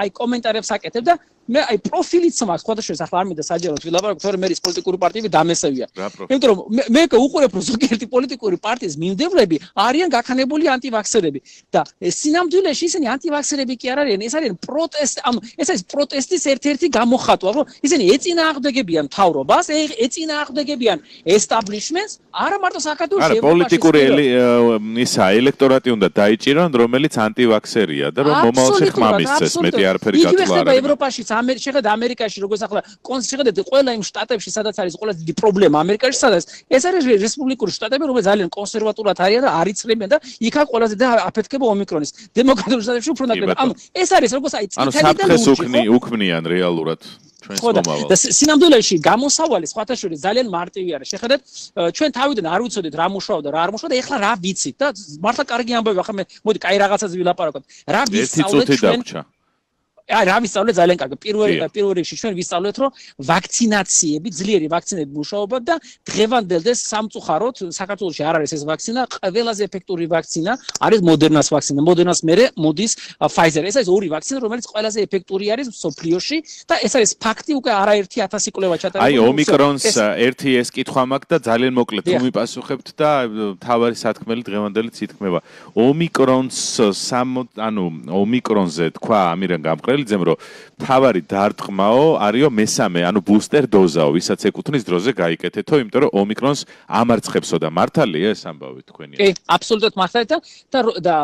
აი კომენტარებს აკეთებ და მე აი პროფილიც მაქვს, ხოდაშორის ახლა არ მინდა საჯაროდ ვილაპარაკო, თორემ მე ის პოლიტიკური პარტიები დამესევია. იმიტომ რომ მე უყურებ, რომ ზოგიერთი პოლიტიკური პარტიის მიმდევრები არიან გაქანებული ანტივაქსერები და სინამდვილეში ისინი ანტივაქსერები კი არ არიან, ეს არიან პროტესტ, ანუ ეს არის პროტესტის ერთ-ერთი გამოხატვა, რომ ისინი ეწინააღმდეგებიან მთავრობას, ეწინააღმდეგებიან establishments, არა მარტო საქართველოს არა პოლიტიკური ისა ელექტორატი უნდა დაიჭირონ, რომელიც ანტივაქსერია და რომ მომავალში ხმამისცეს, მეტი არაფერი გათვლა არ არის. ევროპაში შეხედეთ ამერიკაში, როგორც ახლა შეხედეთ ყველა იმ შტატებში, სადაც არის ყველაზე დიდი პრობლემა ამერიკაში, სადაც ეს არის რესპუბლიკური შტატები, რომელიც ძალიან კონსერვატულად არიან და არ იცრებიან და იქა ყველაზე და აფეთქება ომიკრონის. დემოკრატიულ შტატებში უფრო ნაკლები. ანუ ეს არის როგორც აი წითელი და ლურჯი. ანუ უქმნიან რეალურად ჩვენს მომავალს. და სინამდვილეში გამოსავალი სხვათა შორის ძალიან მარტივი არის. შეხედეთ, ჩვენ თავიდან არ ვიცოდით რა მუშაობდა, რა არ მუშაობდა, ეხლა რა ვიცით და მართლა კარგი ამბავი, ახლა მე მოდი კაი რაღაცას ვილაპარაკოთ. რა ვისწავლეთ ჩვენ? აი რა ვისწავლეთ ძალიან კარგი. პირველ პირველ რიგში ჩვენ ვისწავლეთ, რომ ვაქცინაციები, ძლიერი ვაქცინები მუშაობა და დღევანდელ და სამწუხაროდ საქართველოში არ არის ეს ვაქცინა, ყველაზე ეფექტური ვაქცინა არის მოდერნას ვაქცინა. მოდერნას მერე მოდის Pfizer. ეს არის ორი ვაქცინა, რომელიც ყველაზე ეფექტური არის მსოფლიოში და ეს არის ფაქტი, უკვე არაერთი ათასი კვლევა ჩატარებული. აი ომიკრონს ერთი ეს კითხვა მაქვს და ძალიან მოკლედ თუ მიპასუხებთ და თავარი სათქმელი დღევანდელი თითქმება. ომიკრონს სამ ანუ ომიკრონზე თქვა ამირან გამყრელი ძემ რომ თავარი დარტყმაო არისო მესამე, ანუ ბუსტერ დოზაო, ვისაც ეკუთვნის დროზე გაიკეთეთო, იმიტომ რომ ომიკრონს ამარცხებსო და მართალია ეს ამბავი თქვენი? კი, აბსოლუტურად მართალია და და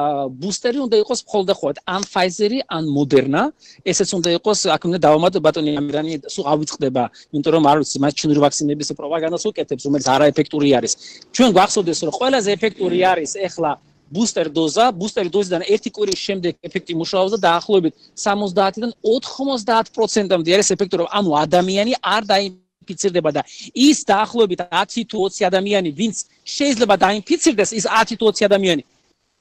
ბუსტერი უნდა იყოს მხოლოდ და მხოლოდ ან Pfizer-ი, ან Moderna, ესეც უნდა იყოს, აქ უნდა დავამატო ბატონი ამირანი, სულ ავიწყდება, იმიტომ რომ არ ვიცი, მას ჩინური ვაქცინების პროპაგანდას უკეთებს, რომელიც არაეფექტური არის. ჩვენ გვახსოვდეს, რომ ყველაზე ეფექტური არის ეხლა booster doza, booster dozიდან ერთი კვირის შემდეგ ეფექტი მუშაობს და დაახლოებით სამოცდაათიდან ოთხმოცდაათ პროცენტამდე არის ეფექტური, ანუ ადამიანი არ დაინფიცირდება და ის დაახლოებით ათი თუ ოცი ადამიანი, ვინც შეიძლება დაინფიცირდეს, ის ათი თუ ოცი ადამიანი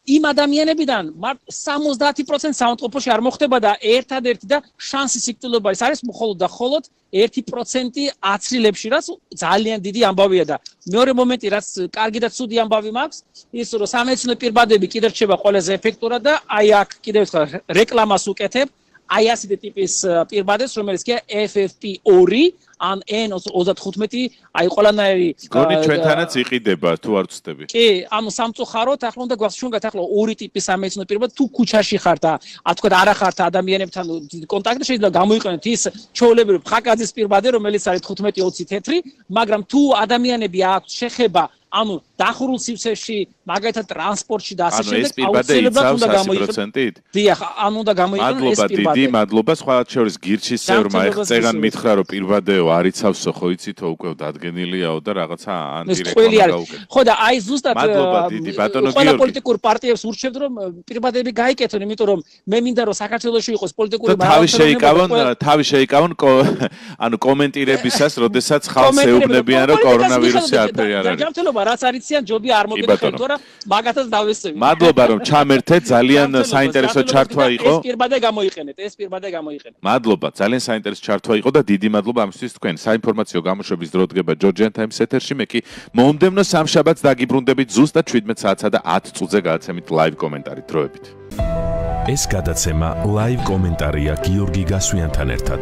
იმ ადამიანებიდან სამოცდაათი პროცენტი საავადმყოფოში არ მოხდება და ერთადერთი და შანსი სიკვდილობა არის მხოლოდ და მხოლოდ ერთი პროცენტი აცრილებში, რაც ძალიან დიდი ამბავია და მეორე მომენტი, რაც კარგი და ცუდი ამბავი მაქვს, ის რომ სამეცნიერო პირბადები კიდევ რჩება ყველაზე ეფექტურად და აი აქ კიდევ ერთხელ რეკლამას უკეთებ, აი ასეთი ტიპის პირბადებს, რომელიც კი F F P ორი ან N ოცდათხუთმეტი, აი ყველანაირი გონი ჩვენთანაც იყიდება თუ არ ვწდები. კი, ანუ სამწუხაროდ ახლა უნდა გვახსოვოთ ახლა ორი ტიპის სამეცნიერო პირბად, თუ ქუჩაში ხართ და თქვა არა ხართ ადამიანებთან კონტაქტში, შეიძლება გამოიყენოთ ის ჩაოლებრივი ხაკაძის პირბადე, რომელიც არის თხუთმეტი ოცი თეთრი, მაგრამ თუ ადამიანები აქვს შეხება ანუ დახურულ სივრცეში, მაგალითად ტრანსპორტში და ასე შემდეგ, აუცილებლად უნდა გამოიყენოთ. დიახ, ანუ უნდა გამოიყენოთ ეს პირბადე. მადლობა, დიდი მადლობა. სხვა შორის გირჩის წევრმა ეხწერან მითხრა, რომ პირბადეო არ იცავსო, ხო იცით, უკვე დადგენილიაო და რაღაცა ანტირეკლამა გაუკეთეთ. ხო და აი ზუსტად მადლობა დიდი ბატონო გიორგი. ყველა პოლიტიკურ პარტიებს ურჩევთ, რომ პირბადები გაიკეთონ, იმიტომ რომ მე მინდა რომ საქართველოში იყოს პოლიტიკური თავი შეიკავონ, თავი შეიკავონ ანუ კომენტირებისას, როდესაც ხალხს ეუბნებიან, რომ კორონავირუსი არაფერი არ არის. რაც არიციან ჯობი არ მოგეთხოვთ, თორემ მაგათაც დავესწრებით. მადლობა რომ ჩამერთეთ, ძალიან საინტერესო ჩართვა იყო. ეს პირბადე გამოიყენეთ, ეს პირბადე გამოიყენეთ. მადლობა, ძალიან საინტერესო ჩართვა იყო და დიდი მადლობა ამისთვის თქვენ. საინფორმაციო გამოშვების დრო დგება Georgian Times ეთერში, მე კი მომდევნო სამშაბათს დაგიბრუნდებით ზუსტად შვიდმეტ საათსა და ათ წუთზე გააცემით live კომენტარი დროებით. ეს გადაცემა live კომენტარია გიორგი გასვიანთან ერთად.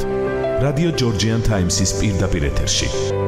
Radio Georgian Times-ის პირდაპირ ეთერში.